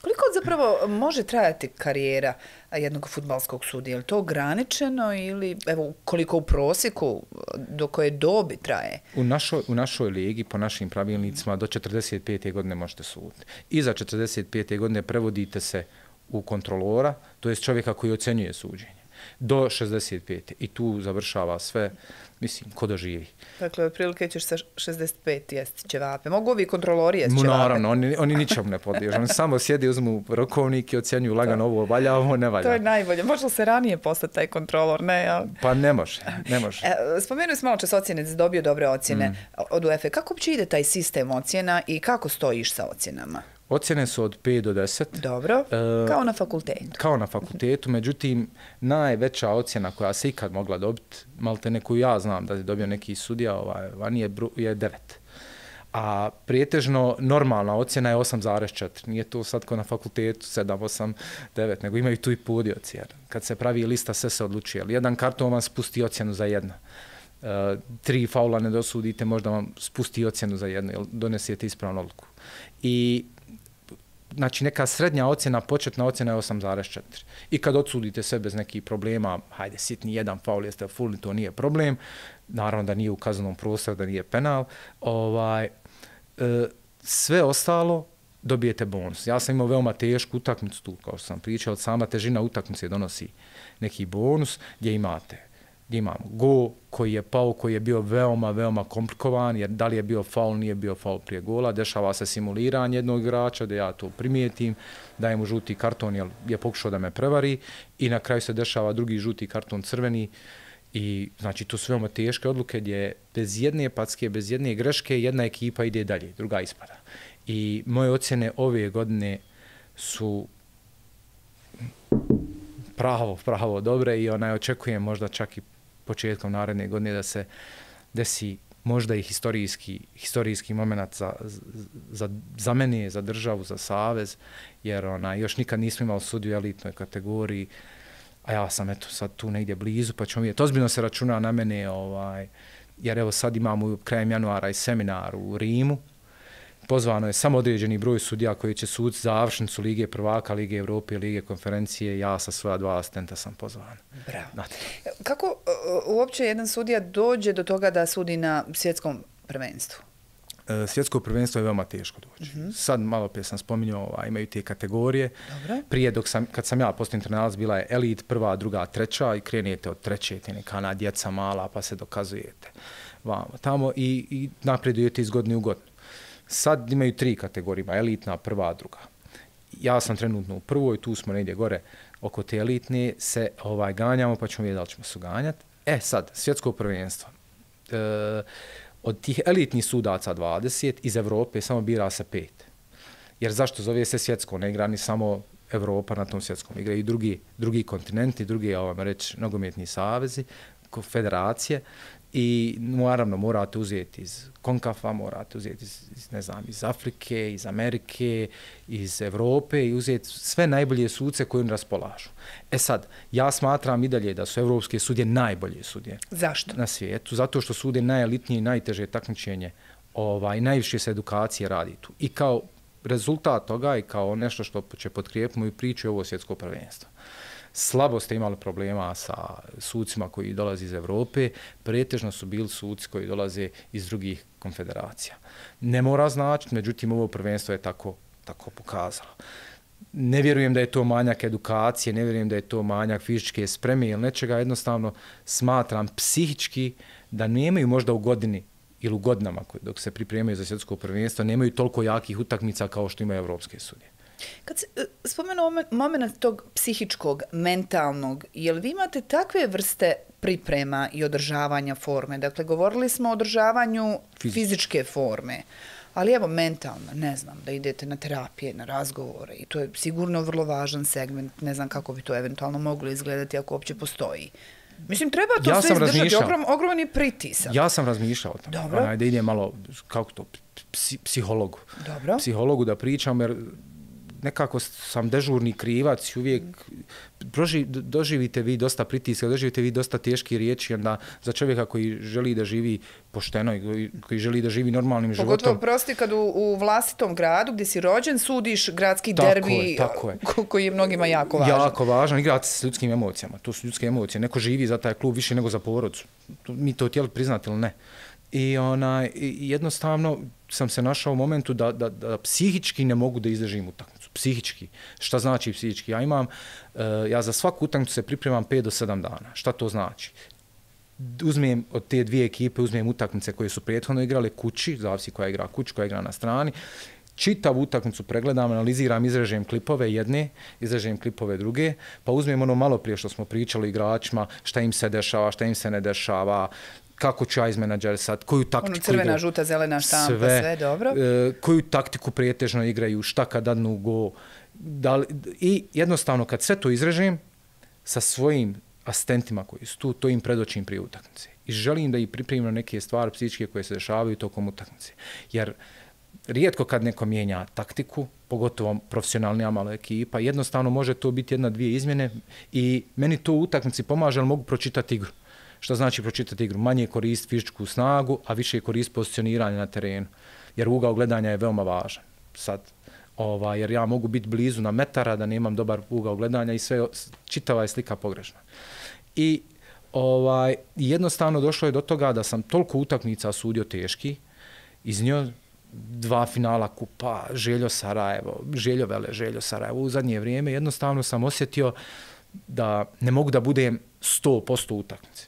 Koliko zapravo može trajati karijera jednog fudbalskog sudija? Je li to ograničeno ili evo koliko u prosjeku, do koje dobi traje? U našoj ligi, po našim pravilnicima, do 45. godine možete suditi. Iza 45. godine prevodite se u kontrolora, to je čovjeka koji ocjenjuje suđenje. Do 65. I tu završava sve, mislim, ko doživi. Dakle, otprilike ćeš sa 65 jesti ćevape. Mogu ovi kontrolori jesti ćevape? Naravno, oni ničemu ne podliježu. Oni samo sjedi, uzmu rokovnik i ocjenjuju lagano ovo valja, ovo ne valja. To je najbolje. Može li se ranije postati taj kontrolor? Ne, ja. Pa ne može. Spomenuli smo malo čas ocjene, da si dobio dobre ocjene od UEFA. Kako uopće ide taj sistem ocjena i kako stojiš sa ocjenama? Ocjene su od 5 do 10. Dobro, kao na fakultetu. Kao na fakultetu, međutim, najveća ocjena koja se ikad mogla dobiti, maltene koju ja znam da je dobio neki sudija, je 9. A prijetežno normalna ocjena je 8,4. Nije to sad kao na fakultetu 7, 8, 9, nego imaju tu i podioci. Kad se pravi lista, sve se odlučuje. Jedan karton vam spusti ocjenu za 1. 3 faula ne dosudite, možda vam spusti ocjenu za 1, jer donesete ispravnu odluku. I znači neka srednja ocjena, početna ocjena je 8,4. I kad odsudite sve bez nekih problema, hajde, sitni jedan faul, jeste fulni, to nije problem. Naravno da nije u kaznenom prostoru, da nije penal. Sve ostalo dobijete bonus. Ja sam imao veoma tešku utakmicu tu, kao što sam pričao, sama težina utakmice donosi neki bonus gdje imamo gol koji je pao, koji je bio veoma, veoma komplikovan, jer da li je bio faul, nije bio faul prije gola, dešava se simuliranje jednog igrača, da ja to primijetim, dajem mu žuti karton jer je pokušao da me prevari i na kraju se dešava drugi žuti karton crveni i znači to su veoma teške odluke gdje bez jedne packe, bez jedne greške jedna ekipa ide dalje, druga ispada. I moje ocjene ove godine su pravo dobre i očekujem možda čak i početkom naredne godine da se desi možda i historijski moment za mene, za državu, za savez, jer još nikad nismo imali sudiju u elitnoj kategoriji, a ja sam sad tu negdje blizu, pa ćemo vidjeti. Ozbiljno se računa na mene, jer evo sad imamo krajem januara i seminar u Rimu, pozvano je samo određeni broj sudija koji će suditi završnicu Lige prvaka, Lige Evrope, Lige konferencije. Ja sa svoja 2 asistenta sam pozvan. Bravo. Kako uopće jedan sudija dođe do toga da sudi na svjetskom prvenstvu? Svjetsko prvenstvo je veoma teško doći. Sad malo prije sam spominjao, imaju te kategorije. Dobro. Prije, kad sam ja postao internalac, bila je elit, prva, druga, treća i krenete od treće, te neka djeca mala, pa se dokazujete vamo tamo i napredujete iz godine u godinu. Sad imaju 3 kategorije, elitna, prva, druga. Ja sam trenutno u prvoj, tu smo negdje gore oko te elitne, se ganjamo, pa ćemo vidjeti da li ćemo se ganjati. Sad, svjetsko prvenstvo. Od tih elitnih sudaca 20, iz Evrope samo bira se 5. Jer zašto zove se svjetsko? Ne igra ni samo Evropa na tom svjetskom. Igra i drugi kontinenti, drugi, reći, nogometni savezi, federacije. I naravno morate uzeti iz CONCACAF-a, morate uzeti iz Afrike, iz Amerike, iz Evrope i uzeti sve najbolje sudce koji oni raspolažu. Sad, ja smatram i dalje da su evropske sudje najbolje sudje. Zašto? Na svijetu. Zato što sude najelitnije i najteže takmičenje. Najviše se edukacije radi tu. I kao rezultat toga i kao nešto što će potkrijepiti moju priču je ovo svjetsko prvenstvo. Slabo ste imali problema sa sucima koji dolaze iz Evrope, pretežno su bili suci koji dolaze iz drugih konfederacija. Ne mora značiti, međutim ovo prvenstvo je tako pokazalo. Ne vjerujem da je to manjak edukacije, ne vjerujem da je to manjak fizičke spreme ili nečega, jednostavno smatram psihički da nemaju možda u godini ili u godinama dok se pripremaju za svjetsko prvenstvo, nemaju toliko jakih utakmica kao što imaju evropske sudije. Kad se spomenuo moment tog psihičkog, mentalnog, je li vi imate takve vrste priprema i održavanja forme? Dakle, govorili smo o održavanju fizičke forme, ali evo mentalna, ne znam, da idete na terapije, na razgovore i to je sigurno vrlo važan segment, ne znam kako bi to eventualno moglo izgledati ako uopće postoji. Mislim, treba to sve izdržati, ogroman je pritisak. Ja sam razmišljao o tome. Da idem malo, kako to, psihologu. Dobro. Psihologu da pričam, jer nekako sam dežurni krivac i uvijek doživite vi dosta pritiska, doživite vi dosta teški riječi, onda za čovjeka koji želi da živi pošteno i koji želi da živi normalnim životom. Pogotovo prosti kad u vlastitom gradu gdje si rođen sudiš gradski derbi koji je mnogima jako važan. Jako važan, igrati s ljudskim emocijama, to su ljudske emocije. Neko živi za taj klub više nego za porodicu. Mi to htjeli priznati ili ne. I jednostavno sam se našao u momentu da psihički ne mogu da izdržim utakmicu. Psihički. Šta znači psihički? Ja za svaku utakmicu se pripremam 5 do 7 dana. Šta to znači? Uzmem od te 2 ekipe, uzmem utakmice koje su prethodno igrale kući, zavisi koja igra kući, koja igra na strani, čitavu utakmicu pregledam, analiziram, izrežem klipove jedne, izrežem klipove druge, pa uzmem ono malo prije što smo pričali igračima, šta im se dešava, šta im se ne dešava, kako ću ja izmenadžer sad, koju taktiku crvena, žuta, zelena štampa, sve dobro. Koju taktiku pretežno igraju, šta kad dadnu go. I jednostavno kad sve to izrežem sa svojim asistentima koji su tu, to im predočim prije utakmice. I želim da ih pripremim na neke stvari psihičke koje se dešavaju tokom utakmice. Jer rijetko kad neko mijenja taktiku, pogotovo profesionalnija malo ekipa, jednostavno može to biti 1-2 izmjene i meni to u utakmici pomaže, ali mogu pročitati igru. Što znači pročitati igru? Manje korist fizičku snagu, a više korist pozicioniranje na terenu. Jer ugao gledanja je veoma važan. Sad, jer ja mogu biti blizu na metara da nemam dobar ugao gledanja i sve, čitava je slika pogrešna. I jednostavno došlo je do toga da sam toliko utakmica sudio teški, iz njoj 2 finala kupa, Željo Sarajevo, Željo Vele, Željo Sarajevo. U zadnje vrijeme jednostavno sam osjetio da ne mogu da budem 100% utakmice.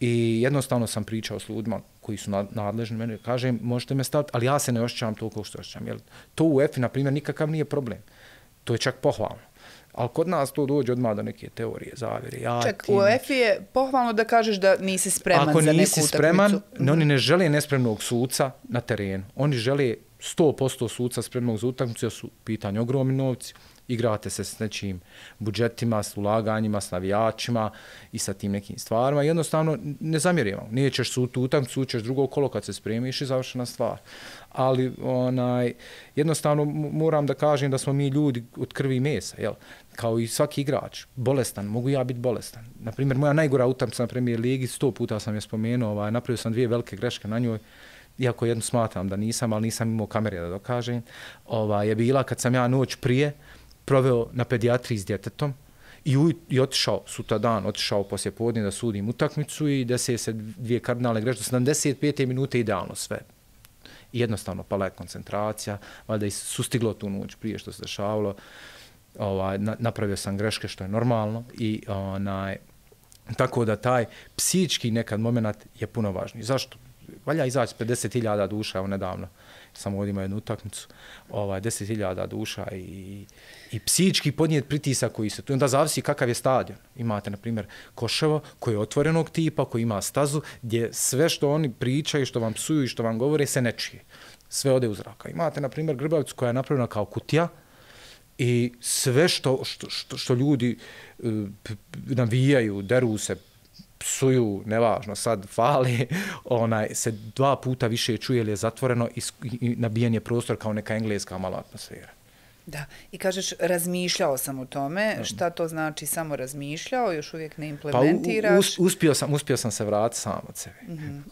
I jednostavno sam pričao s ljudima koji su nadležni meni, kažem, možete me staviti, ali ja se ne osjećam toliko što osjećam. Jer to u EFI, na primjer, nikakav nije problem. To je čak pohvalno. Ali kod nas to dođe odmah do neke teorije, zavjere. Čak, u EFI je pohvalno da kažeš da nisi spreman za neku utakmicu. Ako nisi spreman, oni ne žele nespremnog suca na terenu. Oni žele 100% suca spremnog za utakmicu, jer su pitanje ogromni novci. Igrate se s nečim budžetima, s ulaganjima, s navijačima i sa tim nekim stvarima. Jednostavno, ne zamjerimo. Nećeš tu utakmicu, ćeš drugo kolo kad se spremiš i završena stvar. Ali jednostavno moram da kažem da smo mi ljudi od krvi i mesa, jel? Kao i svaki igrač. Bolestan, mogu ja biti bolestan. Naprimjer, moja najgora utakmica na Premier Ligi, 100 puta sam je spomenuo, napravio sam 2 velike greške na njoj. iako jednu smatram da nisam, ali nisam imao kamere da dokažem, je bila kad sam ja noć prije proveo na pedijatriji s djetetom i otišao sutradan, otišao poslije podne da sudim utakmicu i desi se 2 kardinalne greške, 75. minute idealno sve. I jednostavno pala je koncentracija, valjda i sustiglo tu noć prije što se dešavalo, napravio sam greške što je normalno i tako da taj psihički nekad moment je puno važniji. Zašto? Valja izaći 50.000 duša, evo nedavno sam ovdje imao jednu utakmicu, 10.000 duša i psihički podnijeti pritisak koji se tu. Onda zavisi kakav je stadion. Imate, na primjer, Koševo koji je otvorenog tipa, koji ima stazu, gdje sve što oni pričaju, što vam psuju i što vam govore se ne čije. Sve ode u zraka. Imate, na primjer, Grbavicu koja je napravljena kao kutija i sve što ljudi navijaju, deru se, psuju, nevažno, sad fali, se 2 puta više čuje jer je zatvoreno i nabijen je prostor kao neka engleska mala atmosfera. Da, i kažeš razmišljao sam o tome, šta to znači samo razmišljao, još uvijek ne implementiraš? Pa uspio sam se vratiti sam od sebe.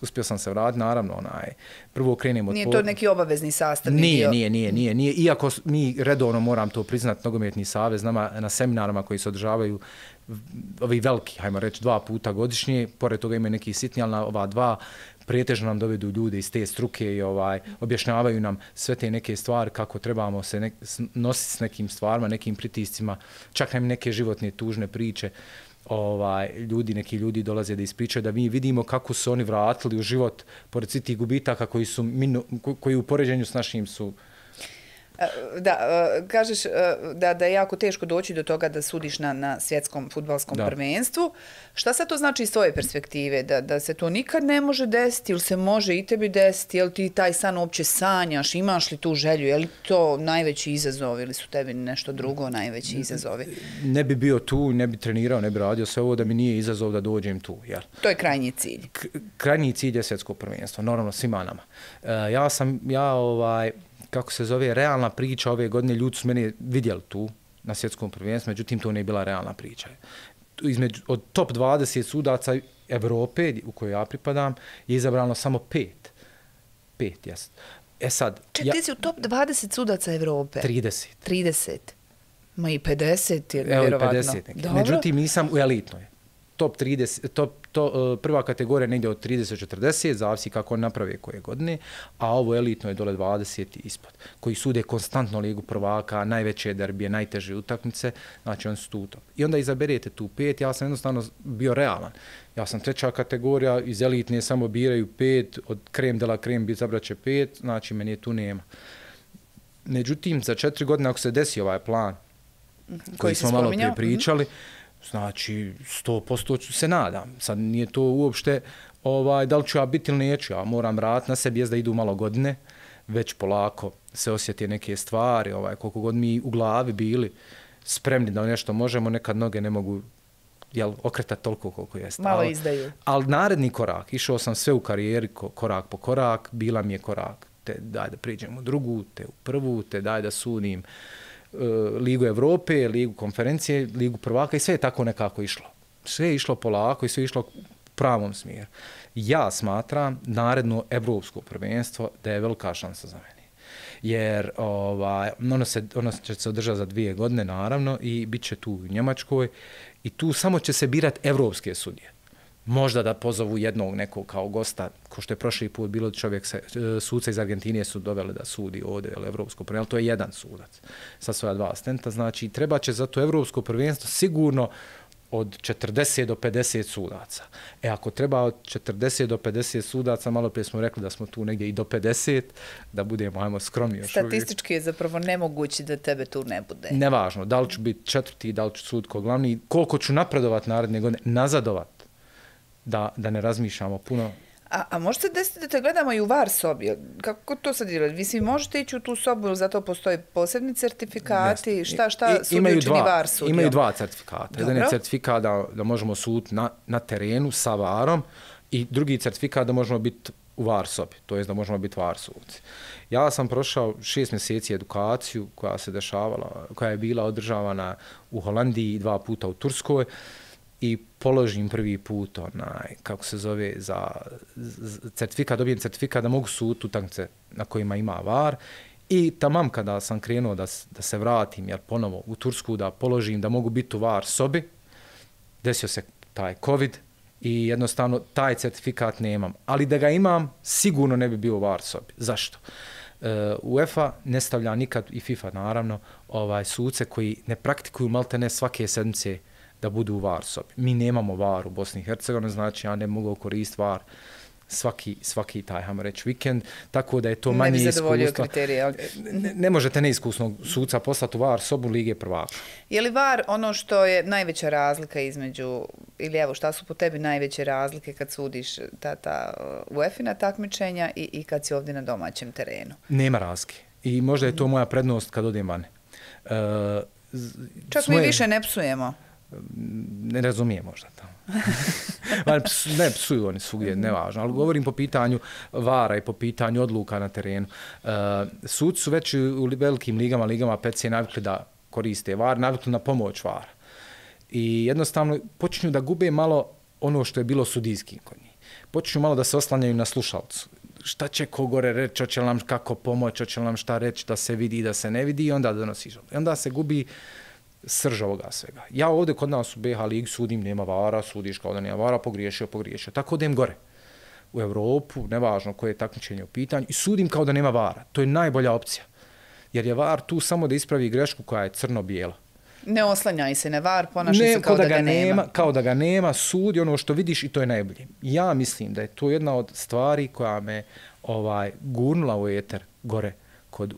Uspio sam se vratiti, naravno, prvo krenem od... Nije to neki obavezni sastavni dio? Nije. Iako mi redovno, moram to priznati, Nogometni savez na seminarima koji se održavaju ovi veliki, hajmo reći, 2 puta godišnje, pored toga imaju neki sitni, ali na ova 2 prijetežno nam dovedu ljude iz te struke i objašnjavaju nam sve te neke stvari, kako trebamo se nositi s nekim stvarima, nekim pritiscima, čak nam neke životne tužne priče. Neki ljudi dolaze da ispričaju, da mi vidimo kako su oni vratili u život pored svih tih gubitaka koji u poređenju s našim su... Da, kažeš da je jako teško doći do toga da sudiš na svjetskom fudbalskom prvenstvu. Šta sad to znači iz tvoje perspektive? Da se to nikad ne može desiti ili se može i tebi desiti? Je li ti taj san uopće sanjaš? Imaš li tu želju? Je li to najveći izazov ili su tebi nešto drugo najveći izazovi? Ne bi bio tu, ne bi trenirao, ne bi radio sve ovo da mi nije izazov da dođem tu. Jel? To je krajnji cilj. Krajnji cilj je svjetsko prvenstvo, normalno svima nama. Kako se zove, realna priča ove godine, ljudi su mene vidjeli tu na svjetskom prvenstvu, međutim to nije bila realna priča. Od top 20 sudaca Evrope, u kojoj ja pripadam, je izabrano samo 5. 5, jes. Sad... Ti si u top 20 sudaca Evrope? 30. 30. Ma i 50 je vjerovatno. 50. Međutim, nisam u elitnoj. Top 30, prva kategorija negdje od 30-40, zavisi kako on naprave koje godine, a ovo elitno je dole 20 ispod, koji sude konstantno ligu prvaka, najveće derbije, najteže utakmice, znači oni su tu top. I onda izaberete tu 5, ja sam jednostavno bio realan. Ja sam 3. kategorija, iz elitne samo biraju 5, od krem de la krem izabraće 5, znači meni je tu nema. Međutim, za 4 godine ako se desi ovaj plan, koji smo malo prije pričali, znači 100% se nadam. Sad nije to uopšte da li ću ja biti ili neću. Ja moram raditi na sebi, jest da idu malo godine, već polako se osjeti neke stvari, koliko god mi u glavi bili spremni da nešto možemo, nekad noge ne mogu okretati toliko koliko jeste. Malo izdaju. Ali naredni korak, išao sam sve u karijeri korak po korak, bila mi je korak, te daj da priđem u drugu, te u prvu, te daj da sudim Ligu Evrope, Ligu konferencije, Ligu prvaka i sve je tako nekako išlo. Sve je išlo polako i sve je išlo u pravom smjeru. Ja smatram naredno evropsko prvenstvo da je velika šansa za mene. Jer ono će se održati za 2 godine naravno i bit će tu u Njemačkoj i tu samo će se birati evropske sudije. Možda da pozovu jednog nekog kao gosta, ko što je prošli put bilo suca iz Argentine su doveli da sudi ovdje evropsko prvenstvo, to je jedan sudac sa svoja 2 asistenta, znači treba će za to evropsko prvenstvo sigurno od 40 do 50 sudaca. Ako treba od 40 do 50 sudaca, malo prije smo rekli da smo tu negdje i do 50, da budemo, skromni još uvijek. Statistički je zapravo nemoguće da tebe tu ne bude. Nevažno, da li ću biti 4., da li ću sud ko glavni, koliko ću napredovat naredne godine, nazadovat. Da ne razmišljamo puno. A može se desiti da te gledamo i u VAR sobi? Kako to sad je? Vi svi možete ići u tu sobu ili zato postoje posebni certifikati? Šta sudiju čini VAR sudijom? Imaju 2 certifikata. Jedan je certifikat da možemo suditi na terenu sa VAR-om i drugi certifikat da možemo biti u VAR sobi, to jest da možemo biti VAR sudci. Ja sam prošao 6 mjeseci edukaciju koja se dešavala, koja je bila održavana u Holandiji 2 puta u Turskoj i položim prvi put kako se zove, za certifikat, dobijem certifikat da mogu suditi utakmice na kojima ima VAR i tamam kada sam krenuo da se vratim, jer ponovo u Tursku da položim, da mogu biti u VAR sobi, desio se taj COVID i jednostavno taj certifikat nemam. Ali da ga imam, sigurno ne bi bio u VAR sobi. Zašto? UEFA ne stavlja nikad, i FIFA naravno, suce koji ne praktikuju maltene svake sedmice da budu u VAR sobi. Mi nemamo VAR u Bosni i Hercegovini, znači ja ne mogu koristiti VAR svaki taj, hajmo reći, vikend, tako da je to manje iskustva. Ne bi zadovoljio kriterije. Ne možete neiskusnog suca poslati u VAR sobu Lige prvaka. Je li VAR ono što je najveća razlika između, ili evo šta su po tebi najveće razlike kad sudiš ta UEFA-ina takmičenja i kad si ovdje na domaćem terenu? Nema razlike. I možda je to moja prednost kad odem vani. Čak mi više ne psujemo. Ne razumijem možda tamo. Ne psuju oni svugdje, nevažno, ali govorim po pitanju VAR-a i po pitanju odluka na terenu. Sudci su već u velikim ligama PC navikli da koriste VAR, navikli na pomoć VAR-a. I jednostavno počinju da gube malo ono što je bilo sudijski kod njih. Počinju malo da se oslanjaju na slušalcu. Šta će ko gore reći, hoće nam kako pomoći, hoće nam šta reći da se vidi, da se ne vidi i onda donosi žalbu. I onda se gubi srž ovoga svega. Ja ovdje kod nas u BH ligi sudim, nema VAR-a, sudiš kao da nema VAR-a, pogriješio. Tako odem gore u Evropu, nevažno koje je takmičenje u pitanju, i sudim kao da nema VAR-a. To je najbolja opcija. Jer je VAR tu samo da ispravi grešku koja je crno-bijela. Ne oslanjaj se na VAR, ponašaj se kao da ga nema. Kao da ga nema, sudi ono što vidiš i to je najbolje. Ja mislim da je to jedna od stvari koja me gurnula u eter gore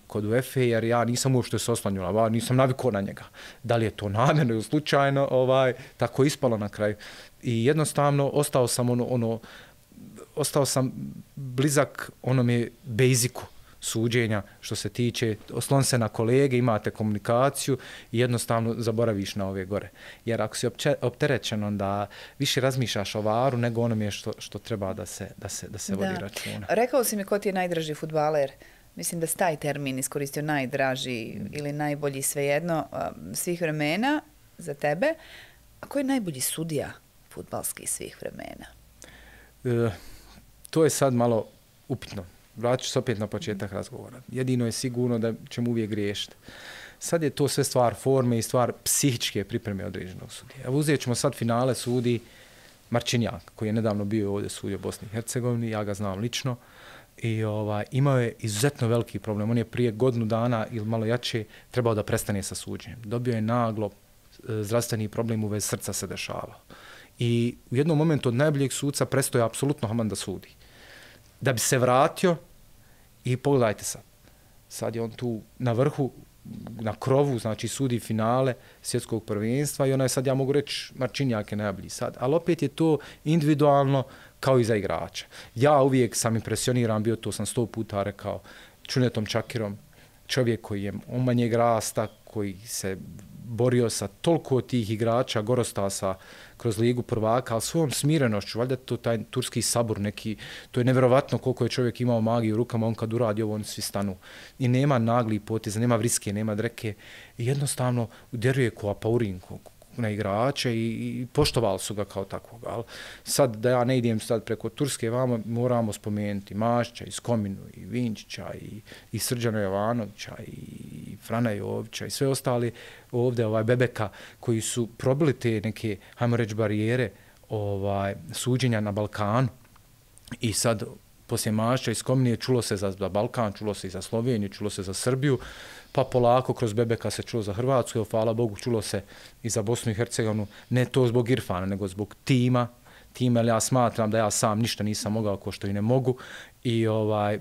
kod UEFA, jer ja nisam uopšte se oslanjala VAR, nisam navikao na njega. Da li je to namjerno ili slučajno, tako ispalo na kraju. I jednostavno ostao sam blizak onome basicu suđenja što se tiče, oslon se na kolege, imate komunikaciju i jednostavno zaboraviš na ove gore. Jer ako si opterećen, onda više razmišljaš o VAR-u nego onome što treba da se vodi računa. Rekao si mi ko ti je najdraži fudbaler. Mislim da si taj termin iskoristio, najdraži ili najbolji, svejedno, svih vremena za tebe. A ko je najbolji sudija fudbalski svih vremena? To je sad malo upitno. Vratit ću se opet na početak razgovora. Jedino je sigurno da ćemo uvijek griješiti. Sad je to sve stvar forme i stvar psihičke pripreme određenog sudija. Evo uzet ćemo sad finale sudi Marčinjak, koji je nedavno bio ovdje sudio u Bosni i Hercegovini, ja ga znam lično. I imao je izuzetno veliki problem. On je prije godinu dana ili malo jače trebao da prestane sa suđenjem. Dobio je naglo zdravstveni problem u vezi srca se dešavao. I u jednom momentu od najboljeg suca prestao je apsolutno haman da sudi. Da bi se vratio i pogledajte sad. Sad je on tu na vrhu, na krovu, znači sudi finale svjetskog prvenstva i ona je sad, ja mogu reći, Marčinjak je najbolji sad. Ali opet je to individualno kao i za igrača. Ja uvijek sam impresioniran, bio to sam 100 puta rekao, Čunetom Čakirom, čovjek koji je manjeg rasta, koji se borio sa toliko tih igrača, Gorostasa kroz Ligu prvaka, ali svojom smirenošću, valjda to taj turski sabor neki, to je nevjerovatno koliko je čovjek imao magiju u rukama, on kad uradi ovo, oni svi stanu. I nema nagli poteza, nema vriske, nema dreke, i jednostavno uderuje ko apaurin, na igrače i poštovali su ga kao takvog. Ali sad da ja ne idem sad preko Turske, vama moramo spomenuti Mašća, i Skominu, i Vinčića, i Srđana Jovanovića, i Frana Jovića, i sve ostali ovdje, Bebeka, koji su probili te neke, hajmo reći, barijere suđenja na Balkanu. I sad, poslije Mašća i Skomine, čulo se za Balkan, čulo se i za Sloveniju, čulo se za Srbiju, pa polako kroz Bebeka se čulo za Hrvatsku, hvala Bogu, čulo se i za Bosnu i Hercegovinu, ne to zbog Irfana, nego zbog tima, jer ja smatram da ja sam ništa nisam mogao, ko što i ne mogu, i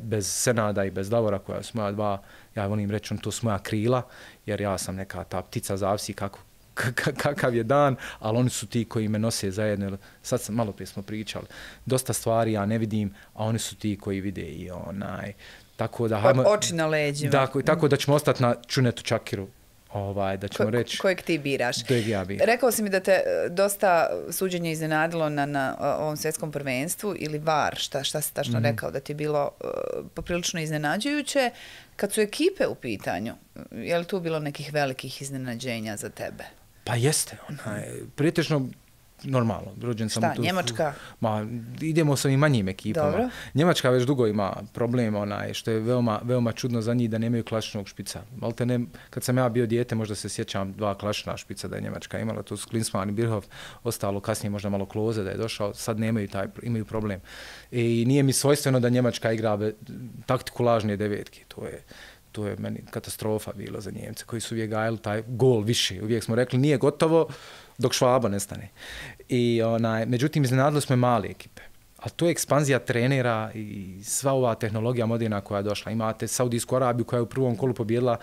bez Senada i bez Davora, koja su moja dva, ja volim reći, to su moja krila, jer ja sam neka ta ptica, zavisi kakav je dan, ali oni su ti koji me nose zajedno. Sad malo prije smo pričali, dosta stvari ja ne vidim, a oni su ti koji vide i tako da oči na leđima. Tako da ćemo ostati na Čunetu Čakiru, da ćemo reći kojeg ti biraš. Kojeg ja biram. Rekao si mi da te dosta suđenje iznenadilo na ovom svjetskom prvenstvu ili VAR, šta si tačno rekao, da ti je bilo poprilično iznenađujuće. Kad su ekipe u pitanju, je li tu bilo nekih velikih iznenađenja za tebe? Pa jeste. Pretežno normalno, rođen sam u tu... Njemačka? Ma, idemo sa ovim manjim ekipama. Dobro. Njemačka već dugo ima problem, što je veoma čudno za njih da nemaju klasičnog špica. Malte ne, kad sam ja bio dijete, možda se sjećam 2 klasična špica da je Njemačka imala, to su Klinsmann i Birhoff, ostalo kasnije možda malo Klose da je došao, sad imaju problem. I nije mi svojstveno da Njemačka igra taktiku lažne devetke, to je meni katastrofa bilo za Njemce koji su uvijek gajali taj gol više. Uvijek smo rekli nije gotovo dok Švaba nestane. Međutim, iznenadili smo male ekipe. Ali to je ekspanzija trenera i sva ova tehnologija moderna koja je došla. Imate Saudijsku Arabiju koja je u prvom kolu pobijedila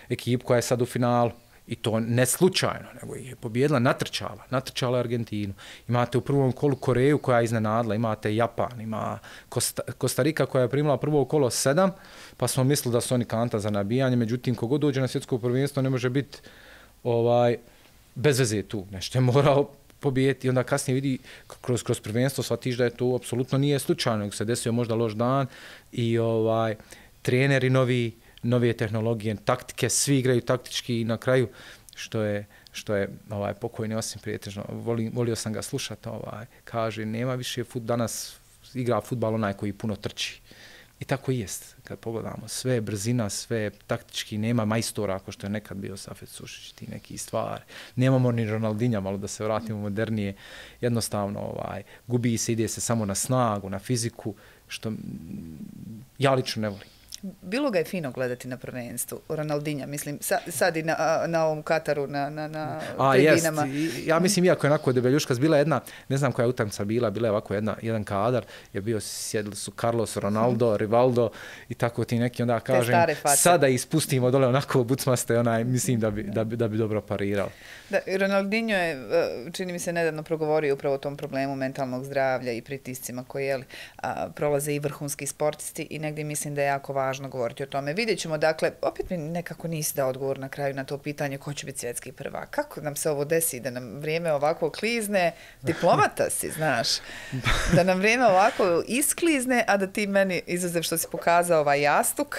ekipu koja je sad u finalu. I to ne slučajno, nego je pobijedila, natrčala Argentinu. Imate u prvom kolu Koreju koja je iznenadila, imate Japan, ima Kostarika koja je primila prvo kolo 7, pa smo mislili da su oni kanta za nabijanje, međutim, kogod dođe na svjetsko prvenstvo ne može biti bez veze tu. Nešto je morao pobijeti i onda kasnije vidi kroz prvenstvo shvatiš da je to apsolutno nije slučajno, nego se desio možda loš dan i treneri nove tehnologije, taktike, svi igraju taktički i na kraju, što je pokojni Osim Prijetežno, volio sam ga slušati, kaže, nema više danas igra fudbal onaj koji puno trči. I tako i jest, kad pogledamo, sve je brzina, sve je taktički, nema majstora ako što je nekad bio Safet Sušić, ti neki stvari. Nemamo ni Ronaldinja, malo da se vratimo modernije, jednostavno gubi se, ide se samo na snagu, na fiziku, što ja lično ne volim. Bilo ga je fino gledati na prvenstvu, Ronaldinja, mislim, sad i na ovom Kataru, na tribinama. Ja mislim, iako je onako debeljuška, bila jedna, ne znam koja utakmica bila je ovako jedan kadar, je bio, sjedili su Carlos, Ronaldo, Rivaldo i tako ti neki, onda kažem, sada ispustimo dole onako bucmaste, mislim da bi dobro parirao. Da, Ronaldinho je, čini mi se, nedavno progovorio upravo o tom problemu mentalnog zdravlja i pritiscima koji prolaze i vrhunski sportisti i negdje mislim da je jako važno govoriti o tome. Vidjet ćemo, dakle, opet mi nekako nisi dao odgovor na kraju na to pitanje ko će biti svjetski prvak. Kako nam se ovo desi da nam vrijeme ovako klizne? Diplomata si, znaš. Da nam vrijeme ovako isklizne, a da ti meni, izuzev što si pokazao ovaj jastuk,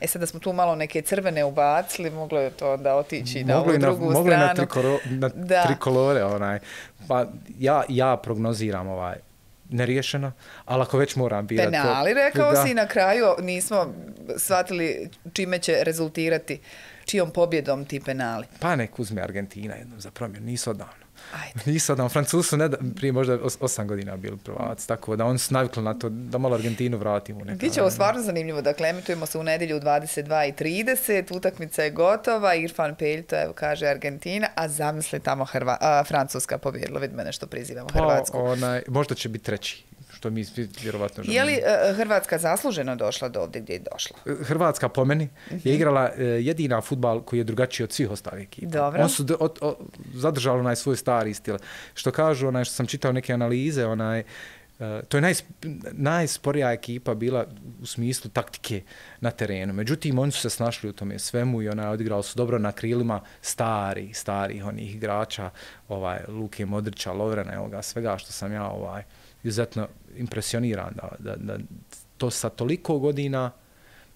sad da smo tu malo neke crvene ubacili, moglo je to onda otići na ovu drugu stranu. Moglo je na trikolore. Pa ja prognoziram neriješeno, ali ako već moram birati... Penali, rekao si, na kraju nismo shvatili čime će rezultirati, čijom pobjedom ti penali. Pa nek uzme Argentina jednom za promjenu, nisu odavno. Nisu odavno. Francuzi su prije možda 8 godina bili prvaci, tako da oni su navikli na to da malo Argentinu vratimo. Biće ovo stvarno zanimljivo, dakle, emitujemo se u nedjelju u 22:30, utakmica je gotova, Irfan Peljto, evo kaže Argentina, a zamisli tamo Francuska pobjedila, vidi mene što prizivamo Hrvatsku. Možda će biti treći. Što mi vjerovatno želimo. Je li Hrvatska zasluženo došla do ovdje gdje je došla? Hrvatska po meni je igrala jedina fudbal koji je drugačiji od svih ostalih ekipa. Dobro. On su zadržali svoj stari stil. Što kažu, što sam čitao neke analize, to je najsporija ekipa bila u smislu taktike na terenu. Međutim, oni su se snašli u tome svemu i odigrali su dobro na krilima starih onih igrača, Luke Modrića, Lovrena, svega što sam ja izuzetno impresioniran da to sa toliko godina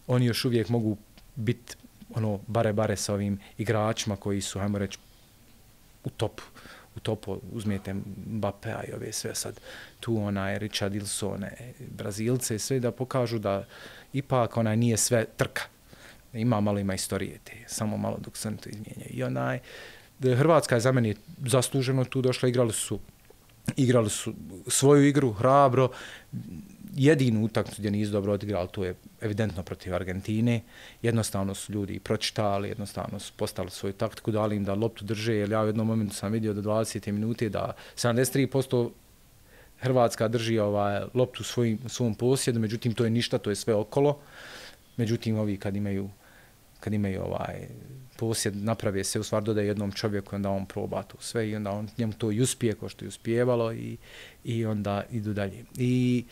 oni još uvijek mogu biti bare sa ovim igračima koji su, hajmo reći, u topu uzmijete Mbappea i ove sve sad tu Richarlisone, Brazilce, sve da pokažu da ipak nije sve trka. Ima istorije te, samo malo dok se to izmijenja. I Hrvatska je za meni zasluženo tu došla, igrali su svoju igru, hrabro, jedinu utakmicu gdje nisu dobro odigrali, to je evidentno protiv Argentine. Jednostavno su ljudi pročitali, jednostavno su postavili svoju taktiku, dali im da loptu drže, jer ja u jednom momentu sam vidio do 20. minute da 73% Hrvatska drži loptu u svom posjedu, međutim to je ništa, to je sve okolo. Međutim, ovi kad imaju posjed, naprave se, u stvari dodaje jednom čovjeku, onda on proba to sve i onda njemu to i uspije, ko što je uspijevalo i onda idu dalje. I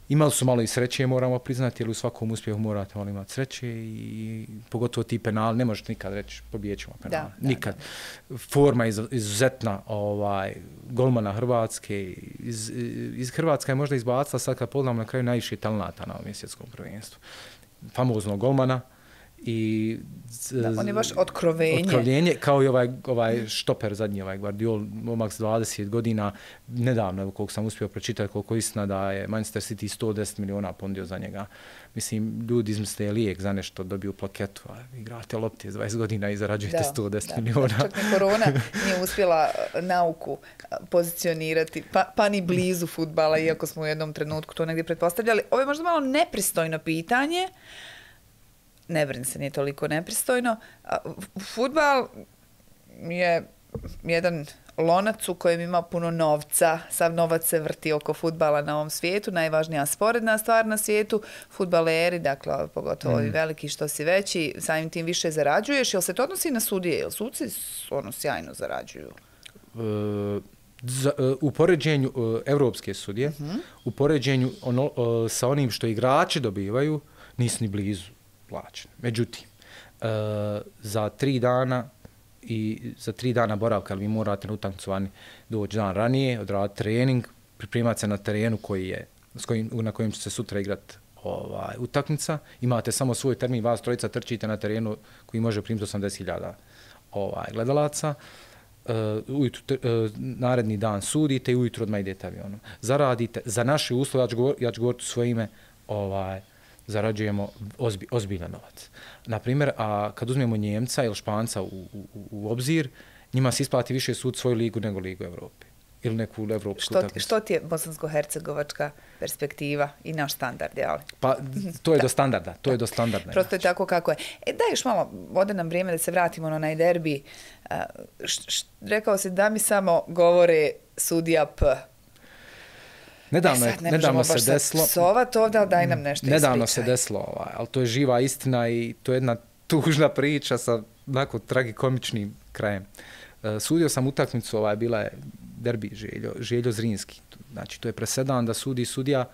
imali su malo i sreće, moramo priznati, jer u svakom uspjehu morate malo imati sreće i pogotovo ti penali, ne možete nikad reći pobijet ćemo penali. Nikad. Forma je izuzetna golmana Hrvatske. Iz Hrvatska je možda izbacila, sad kad pogledamo na kraju, najviše talenata na ovom svjetskom prvenstvu. Famoznog golmana i da, on je baš otkrovenje. Otkrovenje, kao i ovaj štoper zadnji, ovaj Guardiol, momak s 20 godina, nedavno, koliko sam uspio pročitati, koliko istina da je Manchester City 110 miliona pondio za njega. Mislim, ljudi izmisle lijek za nešto, dobiju plaketu, a igrate lopti 20 godina i zarađujete 110 miliona. Čak ni korona nije uspjela nauku pozicionirati, pa ni blizu fudbala, iako smo u jednom trenutku to negdje pretpostavljali. Ovo je možda malo nepristojno pitanje, ne brini se, nije toliko nepristojno. Fudbal je jedan lonac u kojem ima puno novca. Sav novac se vrti oko fudbala na ovom svijetu. Najvažnija sporedna stvar na svijetu. Fudbaleri, dakle, pogotovo i veliki što si veći, samim tim više zarađuješ. Jel se to odnosi na sudije? Jel suci sjajno zarađuju? U poređenju evropske sudije, u poređenju sa onim što igrači dobivaju, nisu ni blizu plaćen. Međutim, za 3 dana i za 3 dana boravka, ali vi morate na utakmicu vani doći dan ranije, odraditi trening, pripremati se na terenu na kojem će se sutra igrati utakmica. Imate samo svoj termin, vas trojica trčite na terenu koji može primiti 80.000 gledalaca. Naredni dan sudite i ujutro odmah idete avionom. Zaradite, za naše uslove, ja ću govoriti u svoje ime, zarađujemo ozbiljan novac. Naprimjer, a kad uzmemo Njemca ili Španca u obzir, njima se isplati više sud svoju ligu nego Ligu Evrope. Ili neku evropsku utakmicu. Što ti je bosansko-hercegovačka perspektiva i naš standard, jel? Pa, to je do standarda. To je do standarda. Prosto je tako kako je. Daj još malo, ode nam vrijeme da se vratimo na onaj derbi. Rekao si da mi samo govore sudija P. Nedavno se desilo. Psovat ovdje, ali daj nam nešto ispričaj. Nedavno se desilo, ali to je živa istina i to je jedna tužna priča sa onako tragikomičnim krajem. Sudio sam utakmicu, bila je derbi Željo Zrinski. Znači, to je presedan da sudi sudija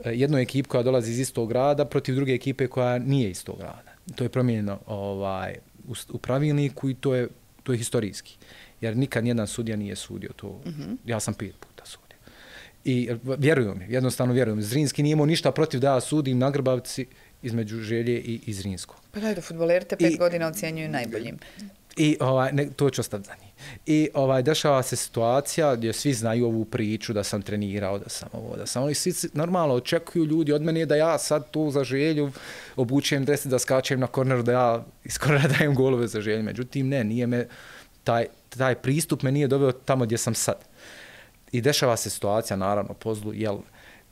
jednoj ekipi koja dolazi iz istog grada protiv druge ekipe koja nije iz tog grada. To je promijenjeno u pravilniku i to je historijski. Jer nikad nijedan sudija nije sudio to. Ja sam 5 puta sudio. I jednostavno vjerujem. Zrinski nije imao ništa protiv da ja sudim na Grbavci između Želje i Zrinskog. Pa daj da fudbaleri te 5 godina ocjenjuju najboljim. I to ću ostaviti za njih. I dešava se situacija gdje svi znaju ovu priču da sam trenirao, da sam ovo, da sam ono. I svi normalno očekuju ljudi od mene da ja sad tu za Želju obučujem dres, da skačem na korneru, da ja iz kornera dajem golove za Želju. Međutim, nije me, taj pristup me nije doveo tamo gdje sam sad. I dešava se situacija, naravno, po zlu, jel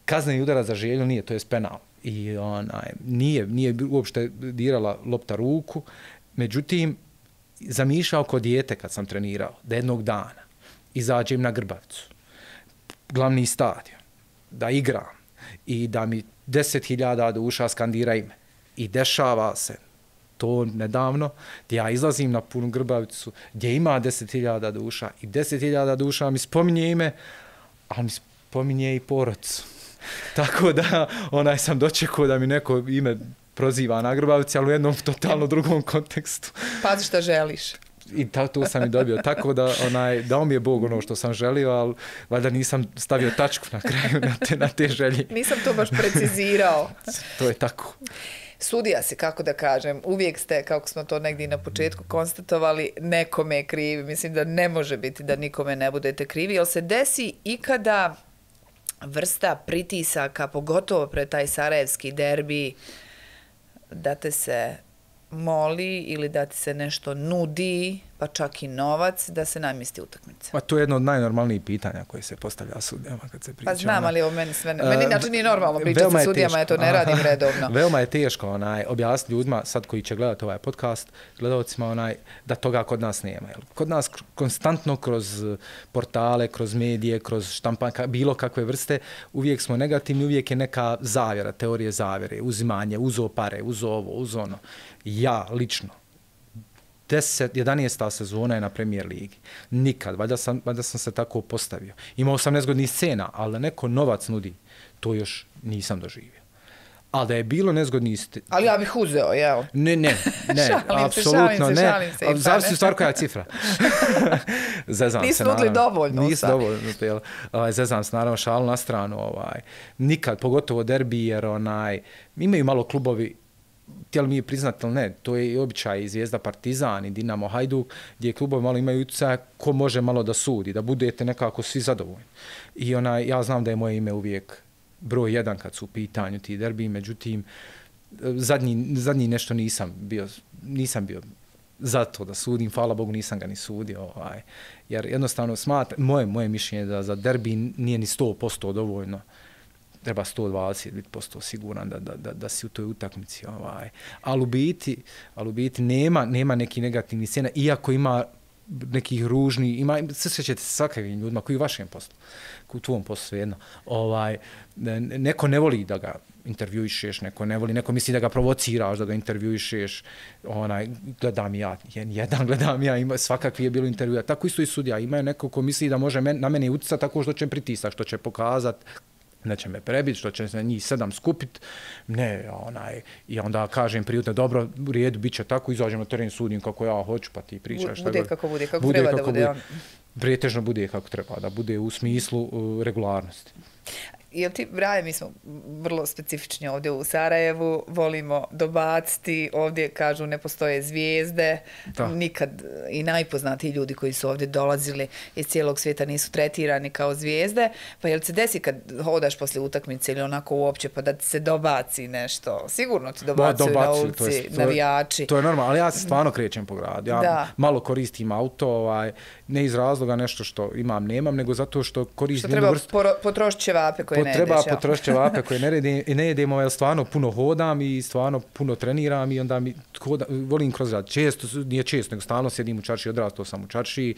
kazneni udarac za Želju nije, to je penal. I nije uopšte dirala lopta ruku, međutim, zamišljao kod dijete kad sam trenirao, da jednog dana izađem na Grbavicu, glavni stadion, da igram i da mi 10.000 duša skandira ime. I dešava se to nedavno, gdje ja izlazim na punu Grbavicu, gdje ima 10.000 duša i 10.000 duša mi spominje ime, ali mi spominje i porodicu. Tako da sam dočekao da mi neko ime proziva na Grbavici, ali u jednom totalno drugom kontekstu. Pazi šta želiš. I to sam i dobio. Tako da dao mi je Bog ono što sam želio, ali valjda nisam stavio tačku na kraju na te želje. Nisam to baš precizirao. To je tako. Sudija se, kako da kažem, uvijek ste, kako smo to negdje na početku konstatovali, nekome krivi. Mislim da ne može biti da nikome ne budete krivi. Jel se desi ikada vrsta pritisaka, pogotovo pred taj sarajevski derbi, da te se moli ili da ti se nešto nudi, pa čak i novac, da se namjesti utakmica? Pa to je jedno od najnormalnijih pitanja koje se postavlja sudijama kad se priča. Pa znam, ali ovo meni sve... Meni inače nije normalno pričati sa sudijama, ja to ne radim redovno. Veoma je teško objasniti ljudima, sad koji će gledati ovaj podcast, gledalcima da toga kod nas nema. Kod nas konstantno kroz portale, kroz medije, kroz štampanka, bilo kakve vrste, uvijek smo negativni, uvijek je neka zavjera, teorije zavjere, uzimanje, uzo pare, uzo ovo, uzo ono. Ja, lično, 11. sezona je na Premier Ligi. Nikad, valjda sam se tako postavio. Imao sam nezgodnih scena, ali da neko novac nudi, to još nisam doživio. Ali da je bilo nezgodnih... Ali ja bih uzeo, jel? Ne, apsolutno ne. Zavisi u stvar koja je cifra. Zezam Nisu se, naravno. nudili dovoljno. Nisu dovoljno. Zezam se, naravno, šalu na stranu. Nikad, pogotovo derbi, jer imaju malo klubovi htjeli mi je priznati ili ne, to je i običaj i Zvijezda Partizan i Dinamo Hajduk, gdje klubovi malo imaju utjecaja ko može malo da sudi, da budete nekako svi zadovoljni. I ja znam da je moje ime uvijek broj 1 kad su u pitanju ti derbi, međutim, zadnji nešto nisam bio za to da sudim, hvala Bogu nisam ga ni sudio, jer jednostavno moje mišljenje da za derbi nije ni 100% dovoljno, treba 120% siguran da si u toj utakmici. Ali u biti nema neki negativni scena, iako ima nekih ružnih, sve ćete se svakavim ljudima koji u vašem poslu, u tvom poslu svejedno. Neko ne voli da ga intervjuišeš, neko misli da ga provociraš, da ga intervjuišeš, gledam ja, svakakvi je bilo intervjuja, tako isto i sudija, imaju neko ko misli da može na mene utjecati tako što će pritisak, što će pokazati, neće me prebiti, što će se njih 7 skupiti, i onda kažem prijutno, dobro, u redu, bit će tako, izađem na teren, sudim kako ja hoću, pa ti pričaš. Bude kako treba da bude. Pretežno bude kako treba, da bude u smislu regularnosti. Jel ti, Braje, mi smo vrlo specifični ovdje u Sarajevu, volimo dobaciti, ovdje kažu ne postoje zvijezde, nikad i najpoznatiji ljudi koji su ovdje dolazili iz cijelog svijeta nisu tretirani kao zvijezde, pa jel se desi kad hodaš poslije utakmice ili onako uopće pa da ti se dobaci nešto, sigurno ti dobacuju na ulici, navijači. To je normalno, ali ja se stvarno krećem po gradu, ja malo koristim auto, ne iz razloga nešto što nemam, nego zato što koristim... Što treba potrošiti ćevape koje ne jedeš. Treba potrošiti ćevape koje ne jedem, jer stvarno puno hodam i stvarno puno treniram i onda volim kroz rad. Nije često, nego stalno sjedim u čaršiji, odrastao sam u čaršiji,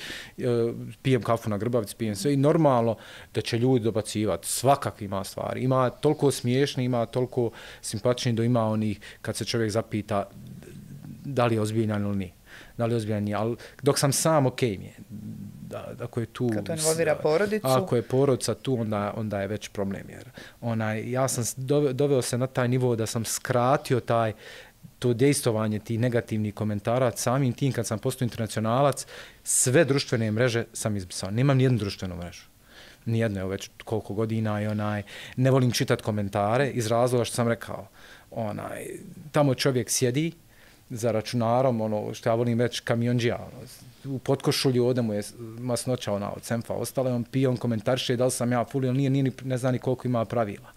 pijem kafu na Grbavici, pijem sve i normalno da će ljudi dobacivati. Svakak ima stvari. Ima toliko smiješni, ima toliko simpatični, da ima onih kad se čovjek zapita da li je ozbiljan ili nije. Da li je ozbiljan nije, ali dok sam sam, okej mi je. Ako je tu, kad to involvira porodicu. Ako je porodica tu, onda je već problem. Jer ja sam doveo se na taj nivo da sam skratio to dejstovanje tih negativnih komentara. Samim tim kad sam postao internacionalac, sve društvene mreže sam izbrisao. Nemam nijednu društvenu mrežu. Nijedno je već koliko godina i ne volim čitati komentare iz razloga što sam rekao. Tamo čovjek sjedi za računarom, što ja volim reći kamionđija, u potkošulju ovdje mu je masnoća od Senfa ostale, on pije, on komentarše da li sam ja full ili nije, ne zna ni koliko ima pravila.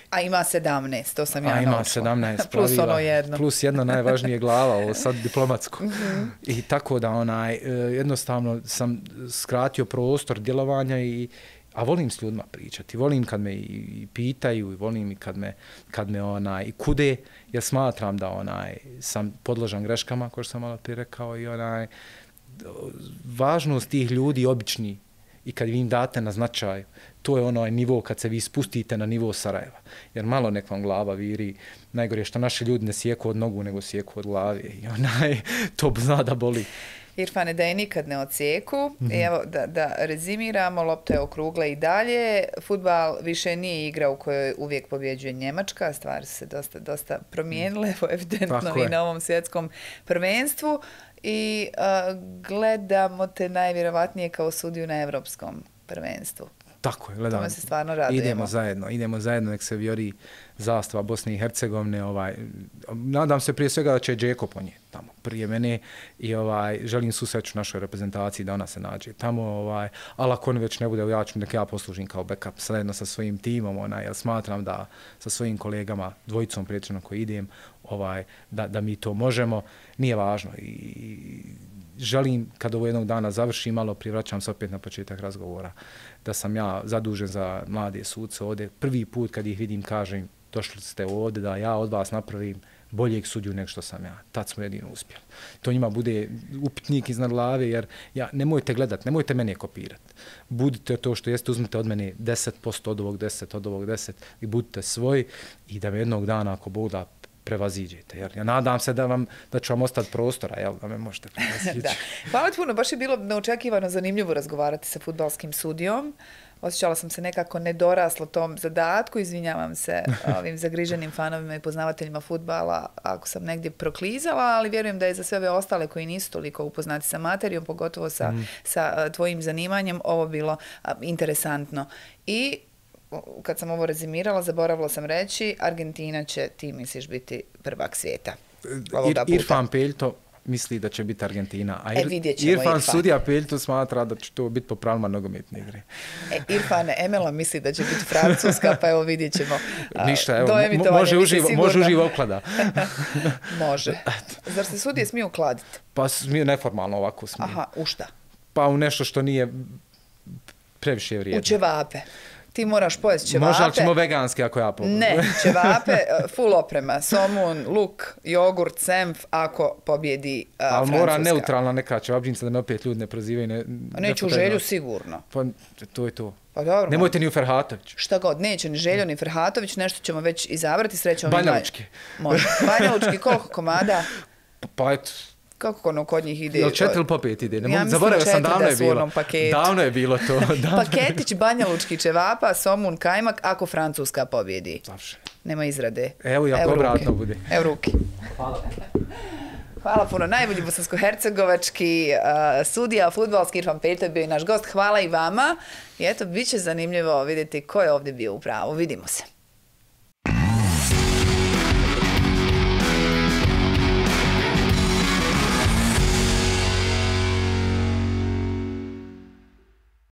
A ima 17, to sam ja naučila. Ima 17 pravila. Plus ono jedno. Plus jedno najvažnije glava, ovo sad diplomatsko. I tako da jednostavno sam skratio prostor djelovanja a volim s ljudima pričati, volim kad me i pitaju, i volim i kad me i kude, jer smatram da sam podložan greškama, kao što sam malo prije rekao, i važnost tih ljudi obični i kad vi im date na značaj, to je nivo kad se vi spustite na nivo Sarajeva. Jer malo nek vam glava viri, najgore što naši ljudi ne sjeku od nogu, nego sjeku od glave i to zna da boli. Irfane, da je nikad ne odsjeku. Evo, da rezimiramo, lopta je okrugla i dalje. Fudbal više nije igra u kojoj uvijek pobjeđuje Njemačka. Stvari su se dosta promijenile, evidentno i na ovom svjetskom prvenstvu. I gledamo te najvjerovatnije kao sudiju na evropskom prvenstvu. Tako je, gledamo. Tome se stvarno radujemo. Idemo zajedno, nek se vjori zastava Bosne i Hercegovine. Nadam se prije svega da će Džeko ponijeti tamo prije mene i želim susreću našoj reprezentaciji da ona se nađe tamo, ali ako on već ne bude, ja ću nek ja poslužim kao backup zajedno sa svojim timom, jer smatram da sa svojim kolegama, dvojicom prijateljima koji idem, da mi to možemo, nije važno i želim, kad ovo jednog dana završim, malo privraćam se opet na početak razgovora, da sam ja zadužen za mlade suce ovdje. Prvi put kad ih vidim kažem, došli ste ovdje da ja od vas napravim boljeg sudiju nego što sam ja. Tad smo jedino uspjeli. To njima bude upitnik iznad glave, jer nemojte gledati, nemojte mene kopirati. Budite to što jeste, uzmite od mene 10% od ovog 10, od ovog 10 i budite svoji i da me jednog dana, ako Bog da, prevaziđete. Jer ja nadam se da ću vam ostati prostora, da me možete prevaziđeti. Hvala ti puno, baš je bilo neočekivano zanimljivo razgovarati sa fudbalskim sudijom. Osjećala sam se nekako nedoraslo tom zadatku, izvinjavam se ovim zagriženim fanovima i poznavateljima fudbala ako sam negdje proklizala, ali vjerujem da je za sve ove ostale koji nisu toliko upoznati sa materijom, pogotovo sa tvojim zanimanjem, ovo bilo interesantno. I kad sam ovo rezimirala, zaboravila sam reći, Argentina će, ti misliš, biti prvak svijeta. Irfan Peljto misli da će biti Argentina, a vidjet ćemo Irfan sudija Peljto smatra da će to biti po pravilima nogometne igre. Irfan Emela misli da će biti Francuska, pa evo vidjet ćemo. Ništa, evo, može uživo oklada. Može. Zar se sudije smiju ukladiti? Pa smiju neformalno ovako smiju. Aha, u šta? Pa u nešto što nije previše vrijedno. U ćevape. Ti moraš pojesti ćevape. Može, ali ćemo veganski ako ja pobjedim. Ne, ćevape, full oprema, somun, luk, jogurt, senf, ako pobjedi Francuska. Ali mora neutralna neka ćevapđinica da me opet ljudi ne prozivaju. Neću u Želju sigurno. Pa to je to. Pa dobro. Nemojte ni u Ferhatović. Šta god, neće ni Željo ni Ferhatović, nešto ćemo već izabrati, srećemo. Banjalučki. Može. Banjalučki, koliko komada? Pa eto. Kako ono kod njih ide? Jel 4 ili po 5 ide? Ja zaboravio sam, davno je bilo. Paketu. Davno je bilo to. Paketić banjalučki ćevapa, somun, kajmak, ako Francuska pobjedi. Završeno. Nema izrade. Evo i ako obratno bude. Evo ruke. Hvala. Hvala puno. Najbolji bosansko-hercegovački sudija, fudbalski Irfan Peljto je bio i naš gost. Hvala i vama. I eto, bit će zanimljivo vidjeti ko je ovdje bio u pravu. Vidimo se.